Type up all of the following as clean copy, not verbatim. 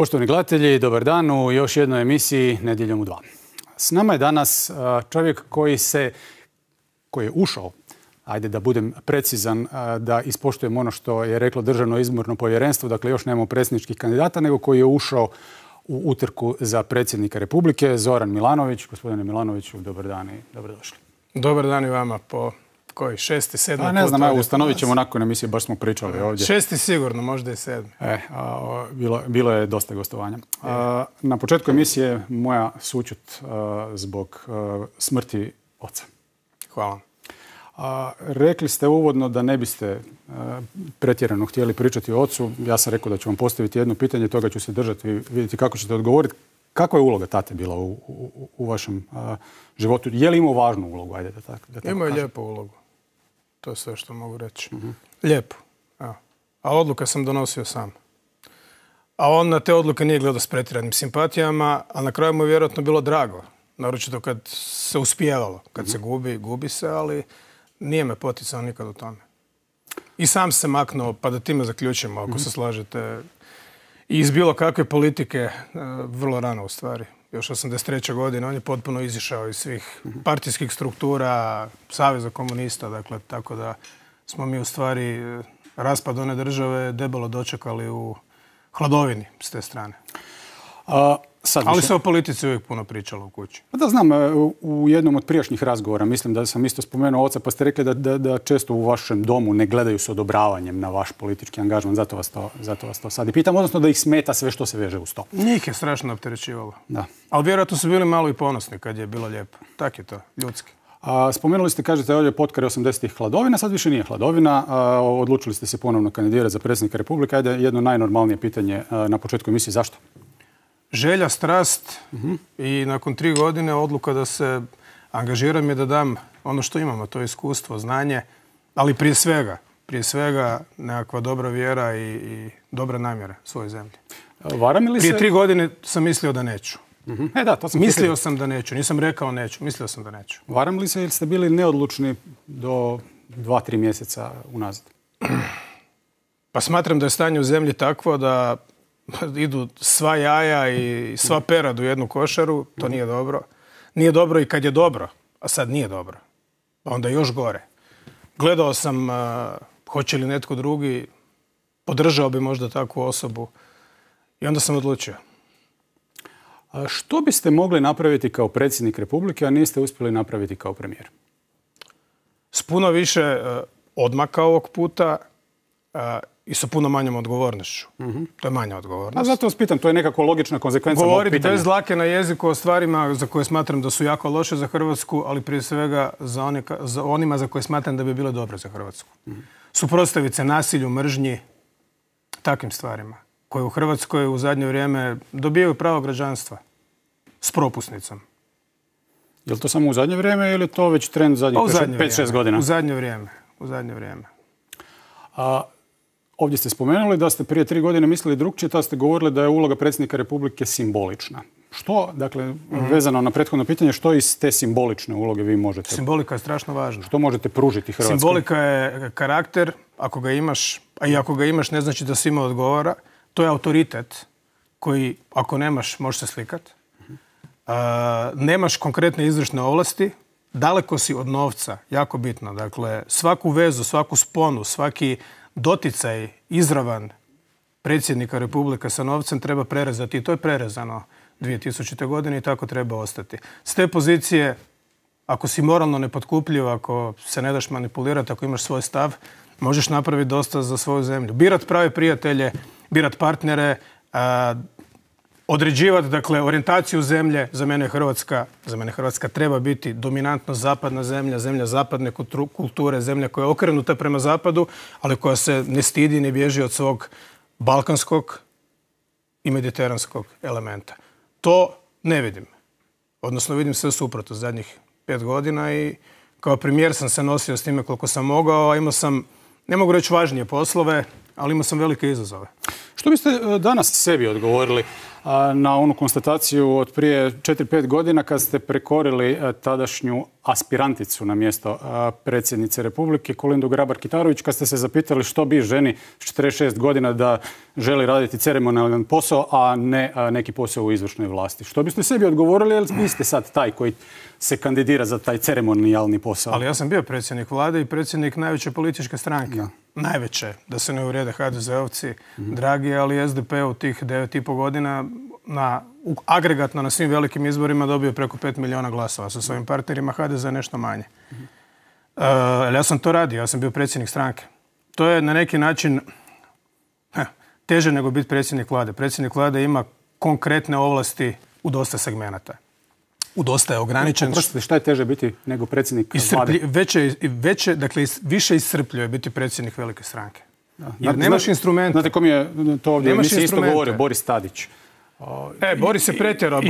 Poštovani gledatelji, dobar dan u još jednoj emisiji Nedjeljom u 2. S nama je danas čovjek koji je ušao, ajde da budem precizan, da ispoštujem ono što je reklo Državno izborno povjerenstvo, dakle još nemamo predsjedničkih kandidata, nego koji je ušao u utrku za predsjednika Republike, Zoran Milanović. Gospodine Milanoviću, dobar dan i dobrodošli. Dobar dan i vama po koji? 6., 7. put? Ne znam, ustanovit ćemo nakon emisije, baš smo pričali ovdje. 6. sigurno, možda i 7. Bilo je dosta gostovanja. Na početku emisije moja sućut zbog smrti oca. Hvala. Rekli ste uvodno da ne biste pretjerano htjeli pričati o ocu. Ja sam rekao da ću vam postaviti jedno pitanje, toga ću se držati i vidjeti kako ćete odgovoriti. Kakva je uloga tate bila u vašem životu? Je li imao važnu ulogu? Ajde da tako imao je lijepu ulogu. To je sve što mogu reći. Lijepo. A odluke sam donosio sam. A on na te odluke nije gledao s pretjeranim simpatijama, a na kraju mu je vjerojatno bilo drago. Naročito kad se uspijevalo. Kad se gubi se, ali nije me poticao nikad u tome. I sam se maknuo, pa da time zaključimo, ako se slažete, i iz bilo kakve politike vrlo rano u stvari. Još 83. godine on je potpuno izišao iz svih partijskih struktura, Saveza komunista, dakle, tako da smo mi u stvari raspad one države debelo dočekali u hladovini s te strane. Ali se o politici uvijek puno pričalo u kući. Da, znam, u jednom od prijašnjih razgovora, mislim da sam isto spomenuo oca, pa ste rekli da često u vašem domu ne gledaju s odobravanjem na vaš politički angažman, zato vas to sad i pitam, odnosno da ih smeta sve što se veže uz to. Njih je strašno opterećivalo. Da. Ali vjerojatno su bili malo i ponosni kad je bilo lijepo. Tak je to, ljudski. Spomenuli ste, kažete, ovdje potkare 80-ih hladovina, sad više nije hladovina. Odlučili ste se ponovno kandidirati za predsjednika Republike. Ajde, jedno najnormalnije pitanje na početku emisije, zašto? Želja, strast i nakon 3 godine odluka da se angažiram i da dam ono što imamo, to je iskustvo, znanje, ali prije svega nekakva dobra vjera i dobre namjere svoje zemlje. Prije 3 godine sam mislio da neću. Mislio sam da neću, nisam rekao neću, mislio sam da neću. Varam li se ili ste bili neodlučni do 2-3 mjeseca unazad? Pa smatram da je stanje u zemlji takvo da idu sva jaja i sva perad u jednu košaru, to nije dobro. Nije dobro i kad je dobro, a sad nije dobro. Pa onda još gore. Gledao sam hoće li netko drugi, podržao bi možda takvu osobu i onda sam odlučio. Što biste mogli napraviti kao predsjednik Republike, a niste uspjeli napraviti kao premijer? S puno više odmaka ovog puta i sa puno manjom odgovornošću. To je manja odgovornost. A zato vas pitam, to je nekako logična konsekvenca mog pitanja. Govoriti bez dlake na jeziku o stvarima za koje smatram da su jako loše za Hrvatsku, ali prije svega za onima za koje smatram da bi bile dobre za Hrvatsku. Suprotstaviti se nasilju, mržnji, takvim stvarima, koje u Hrvatskoj u zadnje vrijeme dobijaju pravo građanstva s propusnicom. Je li to samo u zadnje vrijeme ili je to već trend zadnjih 5-6 godina? U zadnje vrijeme. Ovdje ste spomenuli da ste prije 3 godine mislili drukčije, tada ste govorili da je uloga predsjednika Republike simbolična. Što, dakle, vezano na prethodno pitanje, što iz te simbolične uloge vi možete? Simbolika je strašno važna. Što možete pružiti Hrvatskoj? Simbolika je karakter, ako ga imaš, a i ako ga imaš ne znači da svima odgovara. To je autoritet koji, ako nemaš, možeš se slikati. Nemaš konkretne izvršne ovlasti, daleko si od novca, jako bitno. Dakle, svaku vezu, svaku sponu, svaki doticaj izravan predsjednika Republike sa novcem treba prerezati. I to je prerezano 2000. godine i tako treba ostati. S te pozicije, ako si moralno nepotkupljiv, ako se ne daš manipulirati, ako imaš svoj stav, možeš napraviti dosta za svoju zemlju. Birat prave prijatelje, birat partnere, određivati, dakle, orijentaciju zemlje. Za mene Hrvatska treba biti dominantno zapadna zemlja, zemlja zapadne kulture, zemlja koja je okrenuta prema zapadu, ali koja se ne stidi, ne bježi od svog balkanskog i mediteranskog elementa. To ne vidim. Odnosno vidim sve suprotno zadnjih 5 godina i kao premijer sam se nosio s time koliko sam mogao, a imao sam, ne mogu reći važnije poslove, ali imao sam velike izazove. Što biste danas sebi odgovorili na onu konstataciju od prije 4-5 godina kad ste prekorili tadašnju aspiranticu na mjesto predsjednice Republike, Kolindu Grabar-Kitarović, kad ste se zapitali što bi ženi s 46 godina da želi raditi ceremonijalan posao, a ne neki posao u izvršnoj vlasti? Što biste sebi odgovorili, jer vi ste sad taj koji se kandidira za taj ceremonijalni posao? Ali ja sam bio predsjednik vlade i predsjednik najveće političke stranke. Da. Najveće, da se ne uvrijede HDZ-ovci, dragi, ali SDP u tih 9,5 godina agregatno na svim velikim izborima dobio preko 5 milijuna glasova sa svojim partnerima, HDZ nešto manje. Ja sam to radio, ja sam bio predsjednik stranke. To je na neki način teže nego biti predsjednik vlade. Predsjednik vlade ima konkretne ovlasti u dosta segmenata. U dosta je ograničen. Oprostite, šta je teže biti nego predsjednik vlade? Dakle, više iscrpljuje biti predsjednik velike stranke. Jer nemaš instrumente. Znate kom je to ovdje? Mi se isto govorio, Boris Tadić. Boris je pretjerao.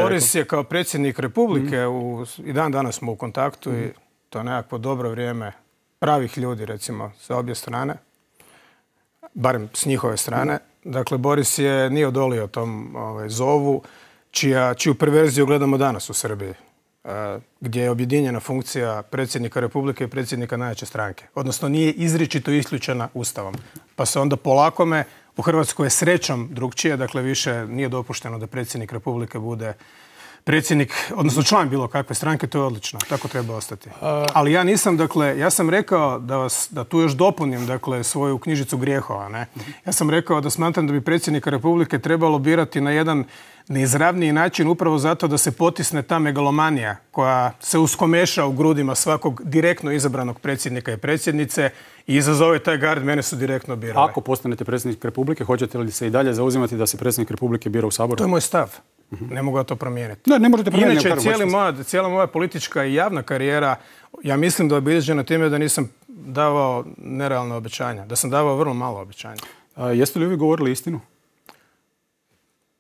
Boris je kao predsjednik Republike, i dan danas smo u kontaktu i to je nekakvo dobro vrijeme pravih ljudi, recimo, sa obje strane. Barem s njihove strane. Dakle, Boris nije odolio tom zovu, čiju perverziju gledamo danas u Srbiji, gdje je objedinjena funkcija predsjednika Republike i predsjednika najjače stranke. Odnosno, nije izričito isključena Ustavom. Pa se onda polakome, u Hrvatskoj je srećom drugčije, dakle više nije dopušteno da predsjednik Republike bude predsjednik, odnosno član bilo kakve stranke, to je odlično, tako treba ostati. Ali ja nisam, dakle, ja sam rekao da tu još dopunim, dakle, svoju knjižicu grijehova, ne? Ja sam rekao da smatram da bi predsjednika Republike trebalo birati na jedan neizravniji način upravo zato da se potisne ta megalomanija koja se uskomeša u grudima svakog direktno izabranog predsjednika i predsjednice i izazove taj gard, mene su direktno birali. Ako postanete predsjednik Republike, hoćete li se i dalje zauzimati da se predsjednik Republike bira u Saboru? To je moj stav. Ne mogu ja to promijeniti. Ne možete promijeniti. Inače, cijela moja politička i javna karijera, ja mislim da je obilježena time da nisam davao nerealna obećanja, da sam davao vrlo malo obećanja. Jeste li vi govorili istinu?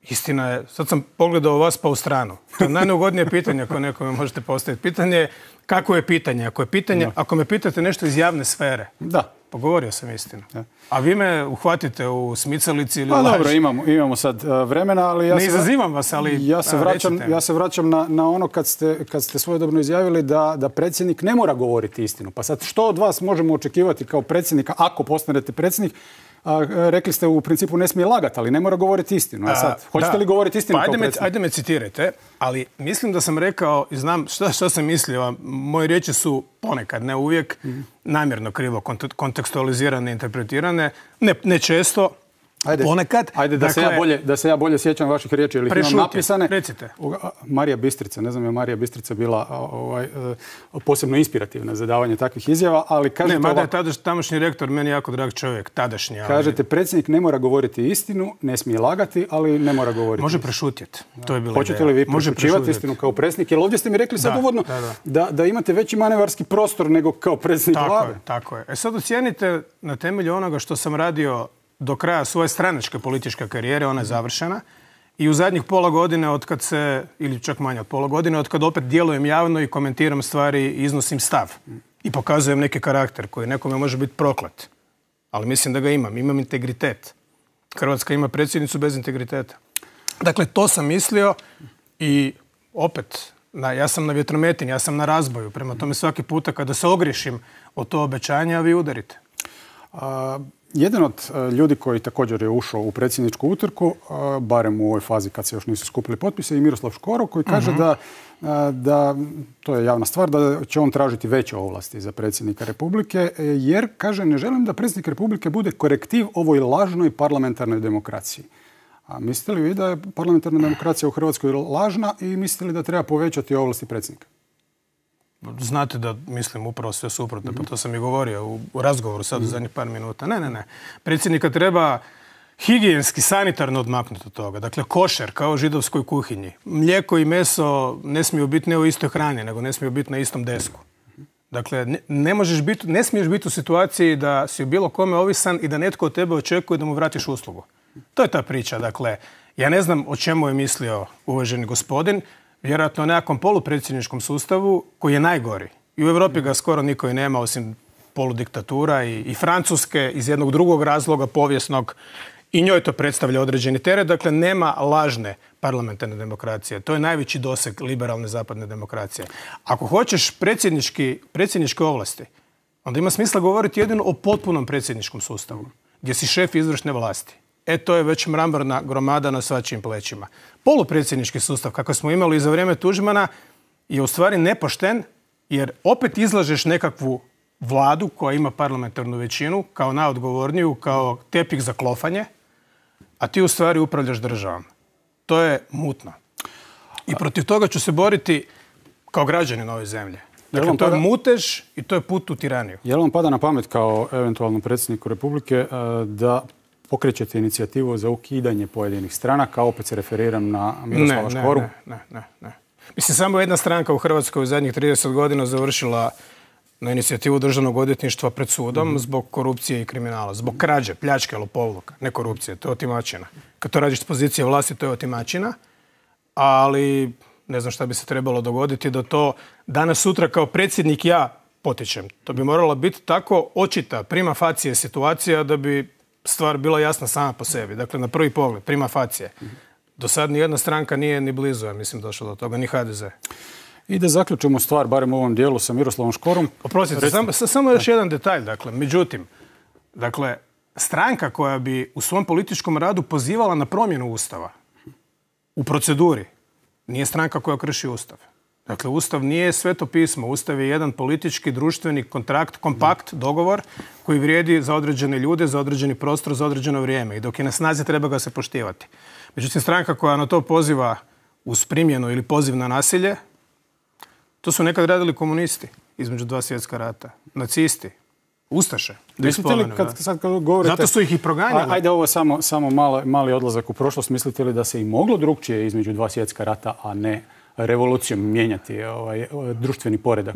Istina je, sad sam pogledao vas pa u stranu. To je najneugodnije pitanje koje nekome možete postaviti. Pitanje je kako je pitanje. Ako me pitate nešto iz javne sfere, pogovorio sam istinu. A vi me uhvatite u smicalici ili laži. Dobro, imamo sad vremena, ali ne izazivam vas, ali ja se vraćam na ono kad ste svojedobno izjavili da predsjednik ne mora govoriti istinu. Pa sad što od vas možemo očekivati kao predsjednika ako postanete predsjednik? Rekli ste u principu ne smije lagati, ali ne mora govoriti istinu. Hoćete li govoriti istinu kao predsjednik? Ajde me citirajte, ali mislim da sam rekao i znam što sam mislio. Moje riječi su ponekad, ne uvijek, namjerno krivo kontekstualizirane, interpretirane. Ne često, ponekad. Ajde, da se ja bolje sjećam vaših riječi ili ih imam napisane. Recite. Marija Bistrica, ne znam je Marija Bistrica bila posebno inspirativna za davanje takvih izjava, ali kažete... Ne, mada je tamošnji rektor meni jako drag čovjek, tadašnji. Kažete, predsjednik ne mora govoriti istinu, ne smije lagati, ali ne mora govoriti. Može prešutjeti. To je bila ideja. Hoćete li vi prešućivati istinu kao predsjednik? Jer ovdje ste mi rekli sad uvodno da imate veći manevarski prostor nego kao predsjednik vlade. Tako je. Sad ocijenite na temelju onoga što sam radio do kraja svoje stranačke političke karijere, ona je završena. I u zadnjih pola godine ili čak manje od pola godine, od kad opet djelujem javno i komentiram stvari i iznosim stav. I pokazujem neki karakter koji nekome može biti proklet. Ali mislim da ga imam. Imam integritet. Hrvatska ima predsjednicu bez integriteta. Dakle, to sam mislio i opet, ja sam na vjetrometini, ja sam na razboju. Prema tome svaki puta kada se ogriješim od to obećanja, vi udarite. Jedan od ljudi koji također je ušao u predsjedničku utrku, barem u ovoj fazi kad se još nisu skupili potpise, je Miroslav Škoro koji kaže da, to je javna stvar, da će on tražiti veće ovlasti za predsjednika Republike, jer, kaže, ne želim da predsjednik Republike bude korektiv ovoj lažnoj parlamentarnoj demokraciji. A mislite li vi da je parlamentarna demokracija u Hrvatskoj lažna i mislite li da treba povećati ovlasti predsjednika? Znate da mislim upravo sve suprotno, pa to sam i govorio u razgovoru sad u zadnjih par minuta. Ne. Predsjednika treba higijenski, sanitarno odmaknuti od toga. Dakle, košer, kao u židovskoj kuhinji. Mlijeko i meso ne smiju biti ne u istoj hrani, nego ne smiju biti na istom desku. Dakle, ne smiješ biti u situaciji da si u bilo kome ovisan i da netko od tebe očekuje da mu vratiš uslugu. To je ta priča. Dakle, ja ne znam o čemu je mislio uvaženi gospodin, vjerojatno o nekakvom polupredsjedničkom sustavu koji je najgori. I u Europi ga skoro niko i nema, osim poludiktatura i Francuske iz jednog drugog razloga povijesnog i njoj to predstavlja određeni teret. Dakle, nema lažne parlamentarne demokracije. To je najveći doseg liberalne zapadne demokracije. Ako hoćeš predsjedničke ovlasti, onda ima smisla govoriti jedino o potpunom predsjedničkom sustavu, gdje si šef izvršne vlasti. To je već mramorna gromada na svačijim plećima. Polupredsjednički sustav, kako smo imali za vrijeme Tuđmana, je u stvari nepošten, jer opet izlažeš nekakvu vladu koja ima parlamentarnu većinu kao najodgovorniju, kao tepih za klofanje, a ti u stvari upravljaš državom. To je mutno. I protiv toga ću se boriti kao građanin ove zemlje. Dakle, to je mutež i to je put u tiraniju. Je li vam pada na pamet kao eventualnom predsjedniku Republike da pokrećete inicijativu za ukidanje pojedinih stranaka? Opet se referiram na Miroslava Škoru. Ne. Mislim, samo jedna stranka u Hrvatskoj u zadnjih 30 godina završila na inicijativu Državnog odvjetništva pred sudom zbog korupcije i kriminala. Zbog krađe, pljačke, lopovluka. Ne korupcije, to je otimačina. Kad to radiš s pozicije vlasti, to je otimačina. Ali ne znam šta bi se trebalo dogoditi da to danas sutra kao predsjednik ja potičem. To bi morala biti tako očita prima facie situacija da bi stvar bila jasna sama po sebi. Dakle, na prvi pogled, prima facie. Do sad nijedna stranka nije ni blizu, ja mislim, došla do toga, ni HDZ. I da zaključimo stvar, barem u ovom dijelu, sa Miroslavom Škorom. Oprostite, samo još jedan detalj. Međutim, stranka koja bi u svom političkom radu pozivala na promjenu Ustava u proceduri nije stranka koja krši Ustav. Dakle, Ustav nije sveto pismo. Ustav je jedan politički, društveni kontrakt, kompakt, dogovor koji vrijedi za određene ljude, za određeni prostor, za određeno vrijeme. I dok je na snazi, treba ga se poštivati. Međutim, stranka koja na to poziva uz primjenu ili poziv na nasilje, to su nekad radili komunisti između dva svjetska rata. Nacisti, ustaše. Mislite li, kad govorite... Zato su ih i proganjali. Ajde, ovo samo mali odlazak u prošlost. Mislite li da se i moglo drugčije između dva svjetska rata, a ne revolucijom mijenjati društveni poredak?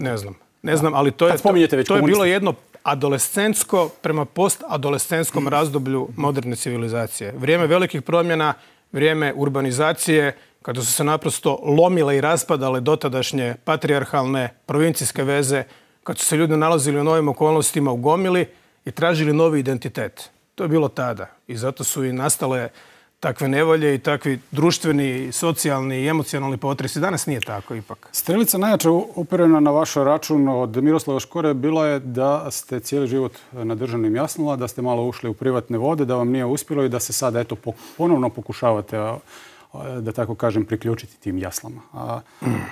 Ne znam, ali to je bilo jedno adolescentsko prema postadolescentskom razdoblju moderne civilizacije. Vrijeme velikih promjena, vrijeme urbanizacije, kada su se naprosto lomile i raspadale dotadašnje patrijarhalne provincijske veze, kad su se ljudi nalazili u novim okolnostima u gomili i tražili novi identitet. To je bilo tada. I zato su i nastale takve nevolje i takvi društveni, socijalni i emocionalni potresi. Danas nije tako ipak. Strelica najjača uperena na vaš račun od Miroslava Škore bila je da ste cijeli život na državnim jaslama, da ste malo ušli u privatne vode, da vam nije uspjelo i da se sada ponovno pokušavate, da tako kažem, priključiti tim jaslama.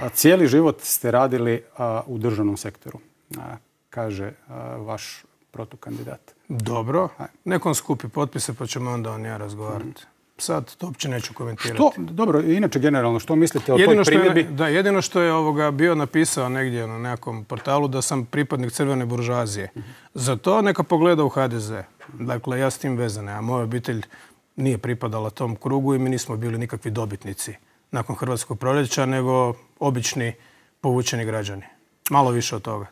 A cijeli život ste radili u državnom sektoru, kaže vaš protukandidat. Dobro. Nekom skupi potpise pa ćemo onda on ja razgovarati. Sad to uopće neću komentirati. Dobro, inače generalno, što mislite o toj primjedbi? Jedino što je bio napisao negdje na nekom portalu da sam pripadnik crvene buržoazije. Za to neka pogleda u HDZ. Dakle, ja s tim vezane, a moja obitelj nije pripadala tom krugu i mi nismo bili nikakvi dobitnici nakon Hrvatskog proljeća, nego obični povučeni građani. Malo više od toga.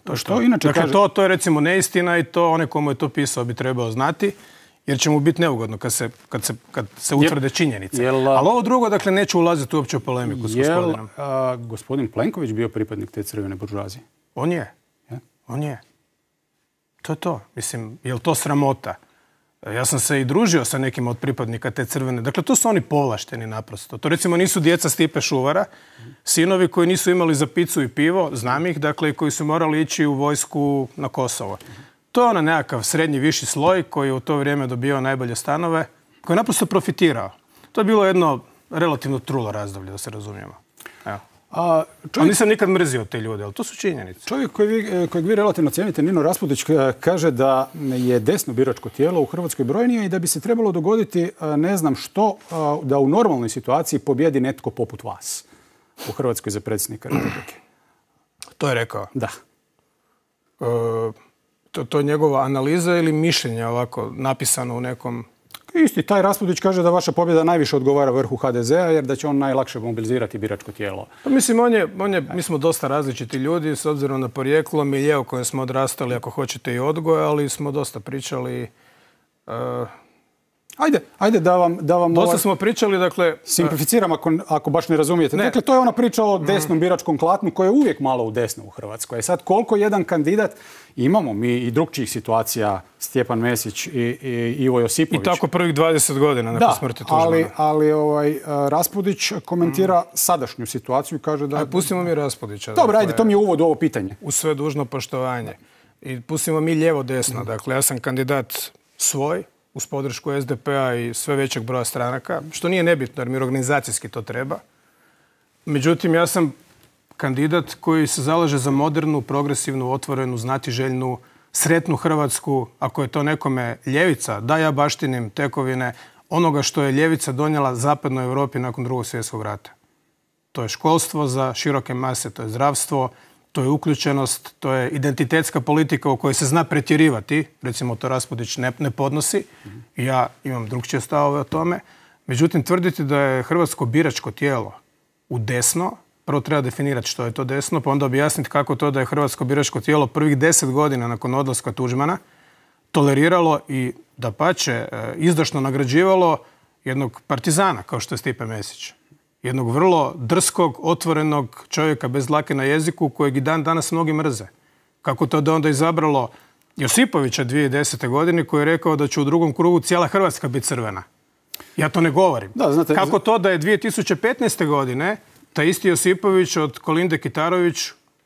Dakle, to je recimo neistina i to onaj komu je to pisao bi trebao znati, jer će mu biti neugodno kad se utvrde činjenice. Ali ovo drugo, dakle, neću ulaziti uopće u polemiku s gospodinom. Je gospodin Plenković bio pripadnik te crvene buržoazije? On je. On je. To je to. Mislim, je li to sramota? Ja sam se i družio sa nekim od pripadnika te crvene. Dakle, to su oni povlašteni naprosto. To recimo nisu djeca Stipe Šuvara, sinovi koji nisu imali za picu i pivo, znam ih, dakle, koji su morali ići u vojsku na Kosovo. To je nekakav srednji viši sloj koji je u to vrijeme dobio najbolje stanove, koji je naprosto profitirao. To je bilo jedno relativno trulo razdoblje, da se razumijemo. Evo. Ali nisam nikad mrzio te ljude, ali to su činjenice. Čovjek kojeg vi relativno cijenite, Nino Raspudić, kaže da je desno biračko tijelo u Hrvatskoj brojnije i da bi se trebalo dogoditi ne znam što, da u normalnoj situaciji pobjedi netko poput vas u Hrvatskoj za predsjednika Republike. To je rekao? Da. To je njegova analiza ili mišljenje ovako napisano u nekom... Isti, taj Raspudić kaže da vaša pobjeda najviše odgovara vrhu HDZ-a jer da će on najlakše mobilizirati biračko tijelo. Pa mislim, mi smo dosta različiti ljudi s obzirom na porijeklo, milje u kojem smo odrastali, ako hoćete i odgoj, ali smo dosta pričali. Ajde da vam Dosta smo pričali, dakle... Simplificiram ako baš ne razumijete. Dakle, to je ona priča o desnom biračkom klatnu koja je uvijek malo u desno u Hrvatskoj. Sad, koliko jedan kandidat, imamo mi i drugčijih situacija, Stjepan Mesić i Ivo Josipović. I tako prvih 20 godina nakon smrti Tuđmana. Ali Raspudić komentira sadašnju situaciju i kaže da... Pustimo mi Raspudića. Dobro, ajde, to mi je uvod u ovo pitanje. U sve dužno poštovanje. I pustimo mi lijevo-desno. Dakle, ja sam kandidat svoj, uz podršku SDP-a i sve većeg broja stranaka, što nije nebitno jer mi organizacijski to treba. Međutim, ja sam kandidat koji se zalaže za modernu, progresivnu, otvorenu, znatiželjnu, sretnu Hrvatsku. Ako je to nekome ljevica, da ja baštinim tekovine onoga što je ljevica donijela zapadnoj Europi nakon Drugog svjetskog rata. To je školstvo za široke mase, to je zdravstvo, to je uključenost, to je identitetska politika u kojoj se zna pretjerivati. Recimo, to Raspudić ne podnosi. Ja imam drugčije stavove o tome. Međutim, tvrditi da je hrvatsko biračko tijelo u desno, prvo treba definirati što je to desno, pa onda objasniti kako to da je hrvatsko biračko tijelo prvih 10 godina nakon odlaska Tuđmana toleriralo i dapače izdašno nagrađivalo jednog partizana kao što je Stipe Mesić. Jednog vrlo drskog, otvorenog čovjeka bez dlake na jeziku kojeg i dan danas mnogi mrze. Kako to da onda izabralo Josipovića 2010. godine koji je rekao da će u drugom krugu cijela Hrvatska biti crvena. Ja to ne govorim. Kako to da je 2015. godine taj isti Josipović od Kolinde Kitarović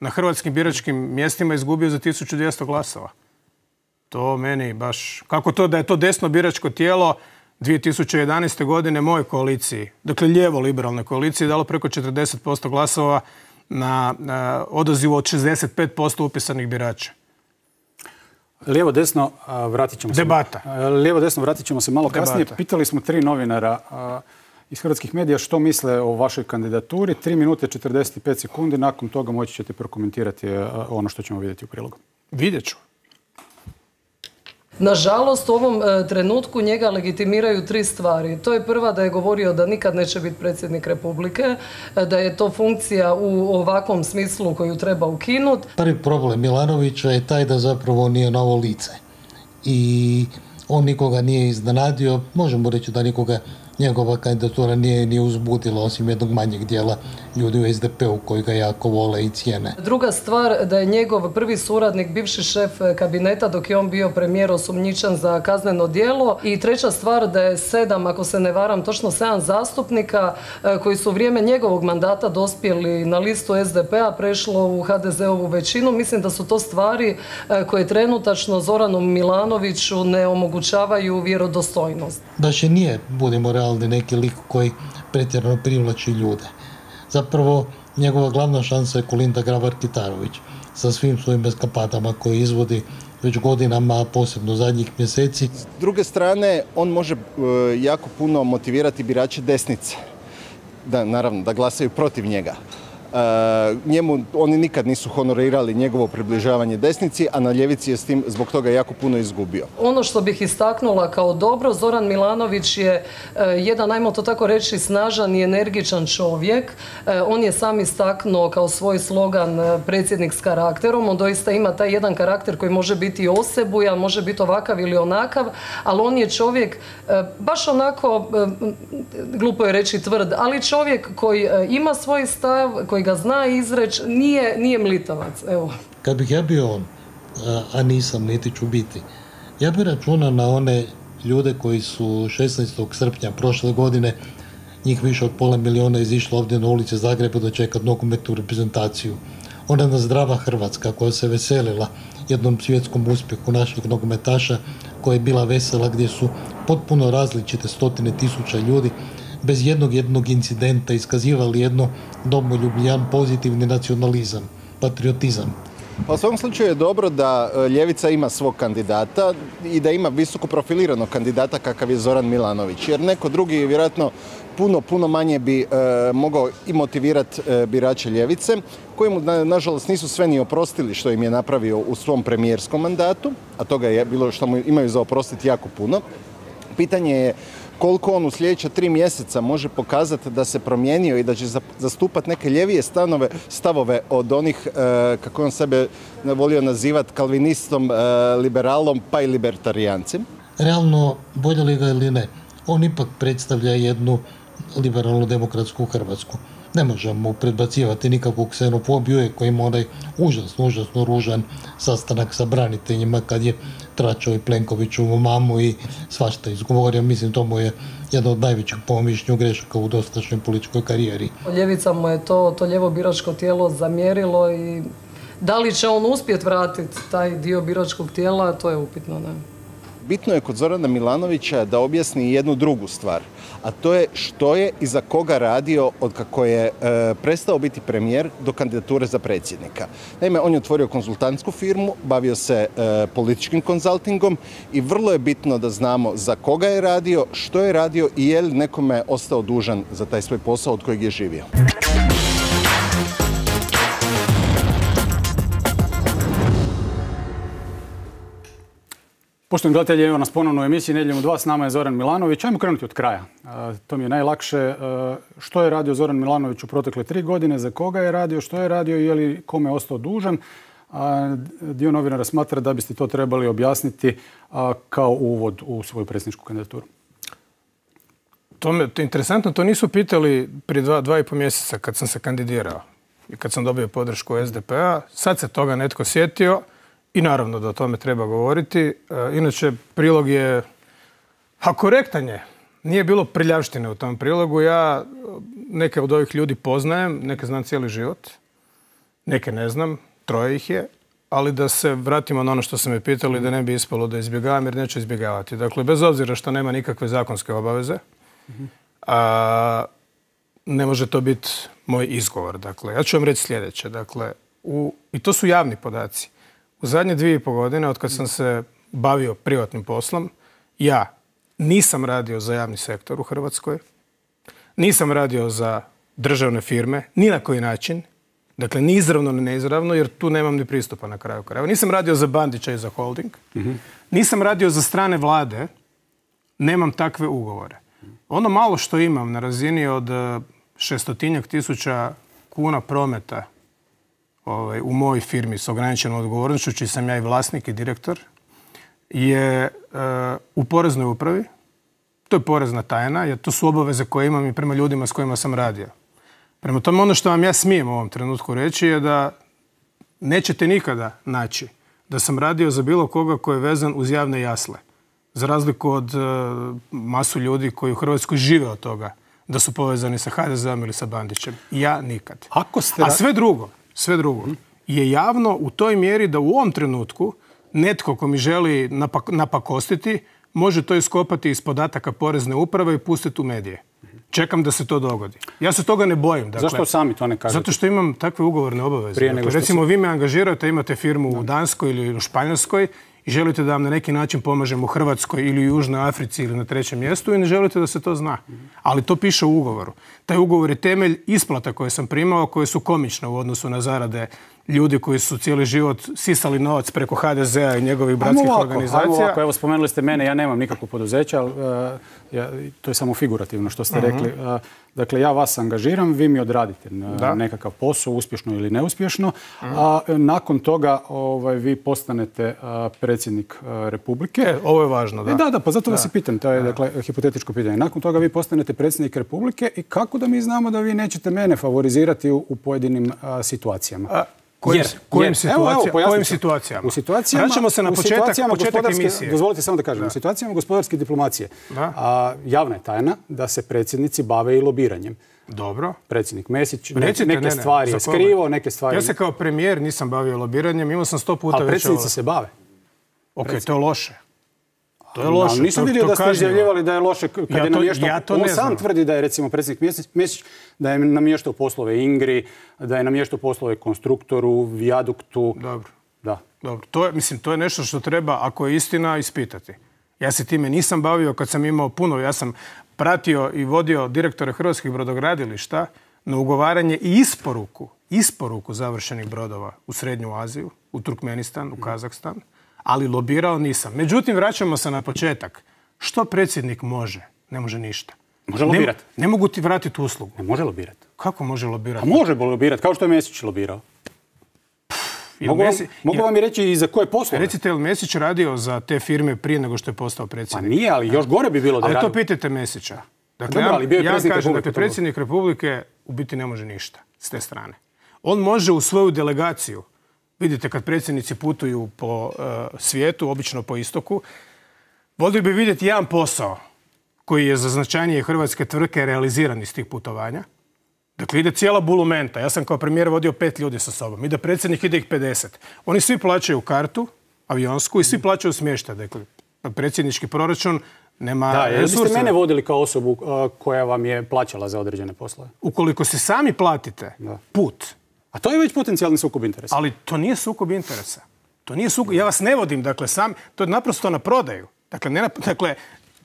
na hrvatskim biračkim mjestima izgubio za 1200 glasova. To meni baš... Kako to da je to desno biračko tijelo 2011. godine moje koaliciji, dakle lijevo-liberalne koalicije, dalo preko 40% glasova na odazivu od 65% upisanih birača. Lijevo-desno vratit ćemo se. Debata. Lijevo-desno vratit ćemo se malo kasnije. Pitali smo 3 novinara iz hrvatskih medija što misle o vašoj kandidaturi. 3 minute 45 sekundi. Nakon toga moći ćete prokomentirati ono što ćemo vidjeti u prilogu. Vidjet ću. Nažalost, u ovom trenutku njega legitimiraju 3 stvari. To je prva, da je govorio da nikad neće biti predsjednik Republike, da je to funkcija u ovakvom smislu koju treba ukinuti. Prvi problem Milanovića je taj da zapravo nije novo lice. I on nikoga nije iznenadio, možemo reći da nikoga njegova kandidatura nije uzbudila, osim jednog manjeg dijela ljudi u SDP-u koji ga jako vole i cijene. Druga stvar, da je njegov prvi suradnik, bivši šef kabineta dok je on bio premijer, osumnjičen za kazneno djelo. I treća stvar, da je 7, ako se ne varam, točno 7 zastupnika koji su u vrijeme njegovog mandata dospjeli na listu SDP-a, prešlo u HDZ-ovu većinu. Mislim da su to stvari koje trenutačno Zoranu Milanoviću ne omogućavaju vjerodostojnost. Baš i nije, budemo realni, neki lik koji pretjerano privlači ljude. Zapravo, njegova glavna šansa je Kolinda Grabar-Kitarović sa svim svojim eskapadama koje izvodi već godinama, a posebno zadnjih mjeseci. S druge strane, on može jako puno motivirati birače desnice. Naravno, da glasaju protiv njega. Oni nikad nisu honorirali njegovo približavanje desnici, a na ljevici je s tim zbog toga jako puno izgubio. Ono što bih istaknula kao dobro, Zoran Milanović je jedan, ajmo to tako reći, snažan i energičan čovjek. On je sam istaknuo kao svoj slogan predsjednik s karakterom. On doista ima taj jedan karakter koji može biti osebujan, može biti ovakav ili onakav, ali on je čovjek baš onako, glupo je reći tvrd, ali čovjek koji ima svoj stav, koji ga zna izreći, nije mlitavac. Evo. Kad bih ja bio on, a nisam, niti ću biti, ja bih računao na one ljude koji su 16. srpnja prošle godine, njih više od 500 000 izišlo ovdje na ulice Zagreba da čekat nogometnu reprezentaciju. Ona zdrava Hrvatska koja se veselila jednom svjetskom uspjehu naših nogometaša, koja je bila vesela, gdje su potpuno različite 100.000 ljudi bez jednog incidenta iskazivali jedno domoljubljan pozitivni nacionalizam, patriotizam. Pa u svom slučaju je dobro da ljevica ima svog kandidata i da ima visoko profiliranog kandidata kakav je Zoran Milanović. Jer neko drugi vjerojatno puno manje bi mogao i motivirati birače ljevice, koji mu nažalost nisu sve ni oprostili što im je napravio u svom premijerskom mandatu, a toga je bilo što mu imaju za oprostiti jako puno. Pitanje je koliko on u sljedeća 3 mjeseca može pokazati da se promijenio i da će zastupati neke ljevije stavove od onih, kako on sebe volio nazivati, kalvinistom, liberalom pa i libertarijancem. Realno, voljeli ga ili ne, on ipak predstavlja jednu liberalnu demokratsku Hrvatsku. Ne možemo predbacivati nikakvu ksenofobiju, koji ima onaj užasno ružan sastanak sa braniteljima kad je tračao i Plenkoviću mamu i svašta izgovorio. Mislim, to mu je jedna od najvećih po mišljenju grešaka u dosadašnjoj političkoj karijeri. Ljevica mu je to lijevo biračko tijelo zamjerilo i da li će on uspjeti vratiti taj dio biračkog tijela, to je upitno, ne? Bitno je kod Zorana Milanovića da objasni jednu drugu stvar, a to je što je i za koga radio od kako je prestao biti premijer do kandidature za predsjednika. Naime, on je otvorio konzultantsku firmu, bavio se političkim konzultingom i vrlo je bitno da znamo za koga je radio, što je radio i je li nekome ostao dužan za taj svoj posao od kojeg je živio. Poštovani gledatelji, evo nas ponovno u emisiji Nedjeljom u 2, s nama je Zoran Milanović. Ajmo krenuti od kraja. To mi je najlakše. Što je radio Zoran Milanović u protekle 3 godine, za koga je radio, što je radio i je li kome ostao dužan? Dio novinara smatra da biste to trebali objasniti kao uvod u svoju predsjedničku kandidaturu. To je interesantno, to nisu pitali prije 2,5 mjeseca kad sam se kandidirao i kad sam dobio podršku SDP-a. Sad se toga netko sjetio. I naravno da o tome treba govoriti. Inače, prilog je, korektan je. Nije bilo prljavštine u tom prilogu. Ja neke od ovih ljudi poznajem, neke znam cijeli život, neke ne znam, 3 ih je, ali da se vratimo na ono što su me pitali, da ne bi ispalo da izbjegavam, jer neću izbjegavati. Dakle, bez obzira što nema nikakve zakonske obaveze, ne može to biti moj izgovor. Dakle, ja ću vam reći sljedeće. Dakle, i to su javni podaci. U zadnje 2,5 godine, od kad sam se bavio privatnim poslom, ja nisam radio za javni sektor u Hrvatskoj, nisam radio za državne firme, ni na koji način, dakle ni izravno ni neizravno, jer tu nemam ni pristupa na kraju krajeva. Nisam radio za Bandića i za holding, nisam radio za strane vlade, nemam takve ugovore. Ono malo što imam na razini od 600.000 kuna prometa u mojoj firmi s ograničenom odgovornošću, čiji sam ja i vlasnik i direktor, je u poreznoj upravi. To je porezna tajna, jer to su obaveze koje imam i prema ljudima s kojima sam radio. Prema tome, ono što vam ja smijem u ovom trenutku reći je da nećete nikada naći da sam radio za bilo koga koji je vezan uz javne jasle. Za razliku od masu ljudi koji u Hrvatskoj žive od toga da su povezani sa HDZ-om ili sa Bandićem. Ja nikad. A sve drugo je javno u toj mjeri da u ovom trenutku netko ko mi želi napakostiti može to iskopati iz podataka porezne uprave i pustiti u medije. Čekam da se to dogodi. Ja se toga ne bojim. Dakle, zašto sami to ne kažete? Zato što imam takve ugovorne obaveze. Dakle, recimo, vi me angažirate, imate firmu u Danskoj ili u Španjolskoj i želite da vam na neki način pomažem u Hrvatskoj ili u Južnoj Africi ili na 3. mjestu i ne želite da se to zna. Ali to piše u ugovoru. Taj ugovor je temelj isplata koje sam primao, koje su komične u odnosu na zarade ljudi koji su cijeli život sisali novac preko HDZ-a i njegovih bratskih organizacija. Evo, spomenuli ste mene, ja nemam nikakvo poduzeće, ali to je samo figurativno što ste rekli. Dakle, ja vas angažiram, vi mi odradite nekakav posao, uspješno ili neuspješno, a nakon toga vi postanete predsjednik Republike. Ovo je važno, da. Da, pa zato vas i pitam, to je dakle hipotetičko pitanje. Nakon toga vi postanete predsjednik Republike i kako da mi znamo da vi nećete mene favorizirati u pojedinim situacijama? Kojim situacijama? U situacijama, vraćamo se na početak emisije. Dozvolite samo da kažem. U situacijama gospodarske diplomacije javna je tajna da se predsjednici bave i lobiranjem. Dobro. Predsjednik Mesić neke stvari je skrivao, neke stvari... Ja se kao premijer nisam bavio lobiranjem, imao sam 100 puta već... Ali predsjednici se bave. Ok, to je loše. To je loše. Nisam vidio da ste izjavljivali da je loše kad je namještao. On sam tvrdi da je recimo predsjednik Mesić da je namještao poslove Ingri, da je namještao poslove konstruktoru, vijaduktu. Dobro. To je nešto što treba, ako je istina, ispitati. Ja se time nisam bavio kad sam imao puno. Ja sam pratio i vodio direktore hrvatskih brodogradilišta na ugovaranje i isporuku završenih brodova u Srednju Aziju, u Turkmenistan, u Kazahstan. Ali lobirao nisam. Međutim, vraćamo se na početak. Što predsjednik može? Ne može ništa. Može lobirati. Ne mogu ti vratiti uslugu. Ne može lobirati. Kako može lobirati? A može lobirati, kao što je Mesić lobirao. Mogu vam i reći i za koje poslove? Recite, je li Mesić radio za te firme prije nego što je postao predsjednik? Pa nije, ali još gore bi bilo da je radio. Ali to pitajte Mesića. Dakle, ja kažem, dakle, predsjednik Republike u biti ne može ništa s te strane. On može u svoju delegaciju, vidite kad predsjednici putuju po svijetu, obično po istoku, volio bi vidjeti jedan posao koji je za značajnije hrvatske tvrtke realiziran iz tih putovanja. Dakle, ide cijela bulumenta. Ja sam kao premijer vodio 5 ljudi sa sobom. Ide predsjednik, ide ih 50. Oni svi plaćaju kartu, avionsku, i svi plaćaju smještaj. Dakle, predsjednički proračun nema resursa. Jeste mene vodili kao osobu koja vam je plaćala za određene poslove? Ukoliko se sami platite put. A to je već potencijalni sukob interesa. Ali to nije sukob interesa. To nije sukob. Ja vas ne vodim, dakle, sam. To je naprosto na prodaju. Dakle,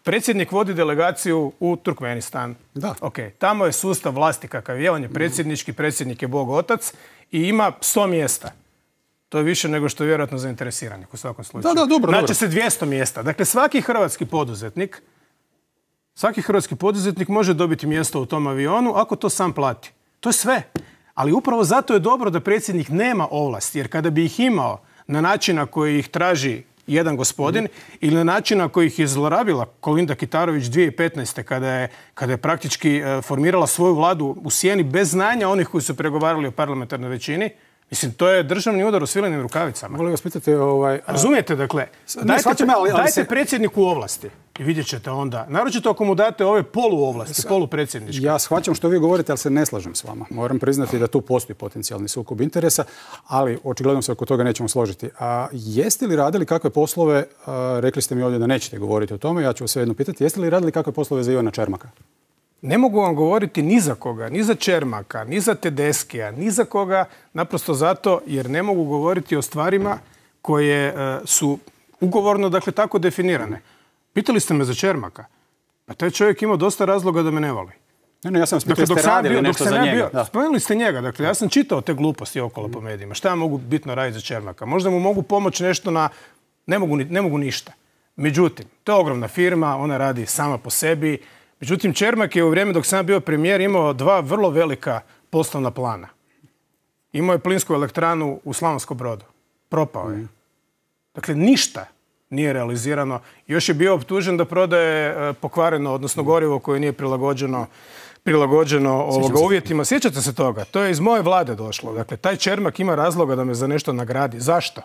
predsjednik vodi delegaciju u Turkmenistan. Da. Okay. Tamo je sustav vlasti kakav je. On je predsjednički, predsjednik je Bog otac i ima 100 mjesta. To je više nego što je vjerojatno zainteresiranih u svakom slučaju. Da, dobro. Znači se 200 mjesta. Dakle, svaki hrvatski poduzetnik može dobiti mjesto u tom avionu ako to sam plati. To je sve. Ali upravo zato je dobro da predsjednik nema ovlasti, jer kada bi ih imao na način na koji ih traži jedan gospodin ili na način na koji ih je zlorabila Kolinda Kitarović 2015. kada je praktički formirala svoju vladu u sjeni bez znanja onih koji su pregovarali o parlamentarnoj većini. Mislim, to je državni udar u svilenim rukavicama. Molim vas pitati... Razumijete, dakle, dajte predsjedniku ovlasti i vidjet ćete onda. Naročito ako mu date ove poluovlasti, polupredsjedničke. Ja shvaćam što vi govorite, ali se ne slažem s vama. Moram priznati da tu postoji potencijalni sukob interesa, ali očigledno se oko toga nećemo složiti. A jeste li radili kakve poslove, rekli ste mi ovdje da nećete govoriti o tome, ja ću vas svejedno pitati, jeste li radili kakve poslove za Ivana Čermaka? Ne mogu vam govoriti ni za koga, ni za Čermaka, ni za Tedeskija, ni za koga, naprosto zato jer ne mogu govoriti o stvarima koje su ugovorno, dakle, tako definirane. Pitali ste me za Čermaka. Pa taj čovjek imao dosta razloga da me ne voli. Ne, ja sam vas pitao, jeste radili nešto za njega. Spomenuli ste njega, dakle, ja sam čitao te gluposti okolo po medijima. Šta ja mogu bitno raditi za Čermaka? Možda mu mogu pomoći nešto na... Ne mogu ništa. Međutim, to je ogromna firma, ona radi sama po sebi. Međutim, Čermak je u vrijeme dok sam bio premijer imao 2 vrlo velika poslovna plana. Imao je plinsku elektranu u Slavonskom Brodu. Propao je. Dakle, ništa nije realizirano. Još je bio optužen da prodaje pokvareno, odnosno gorivo koje nije prilagođeno uvjetima. Sjećate se toga? To je iz moje vlade došlo. Dakle, taj Čermak ima razloga da me za nešto nagradi. Zašto?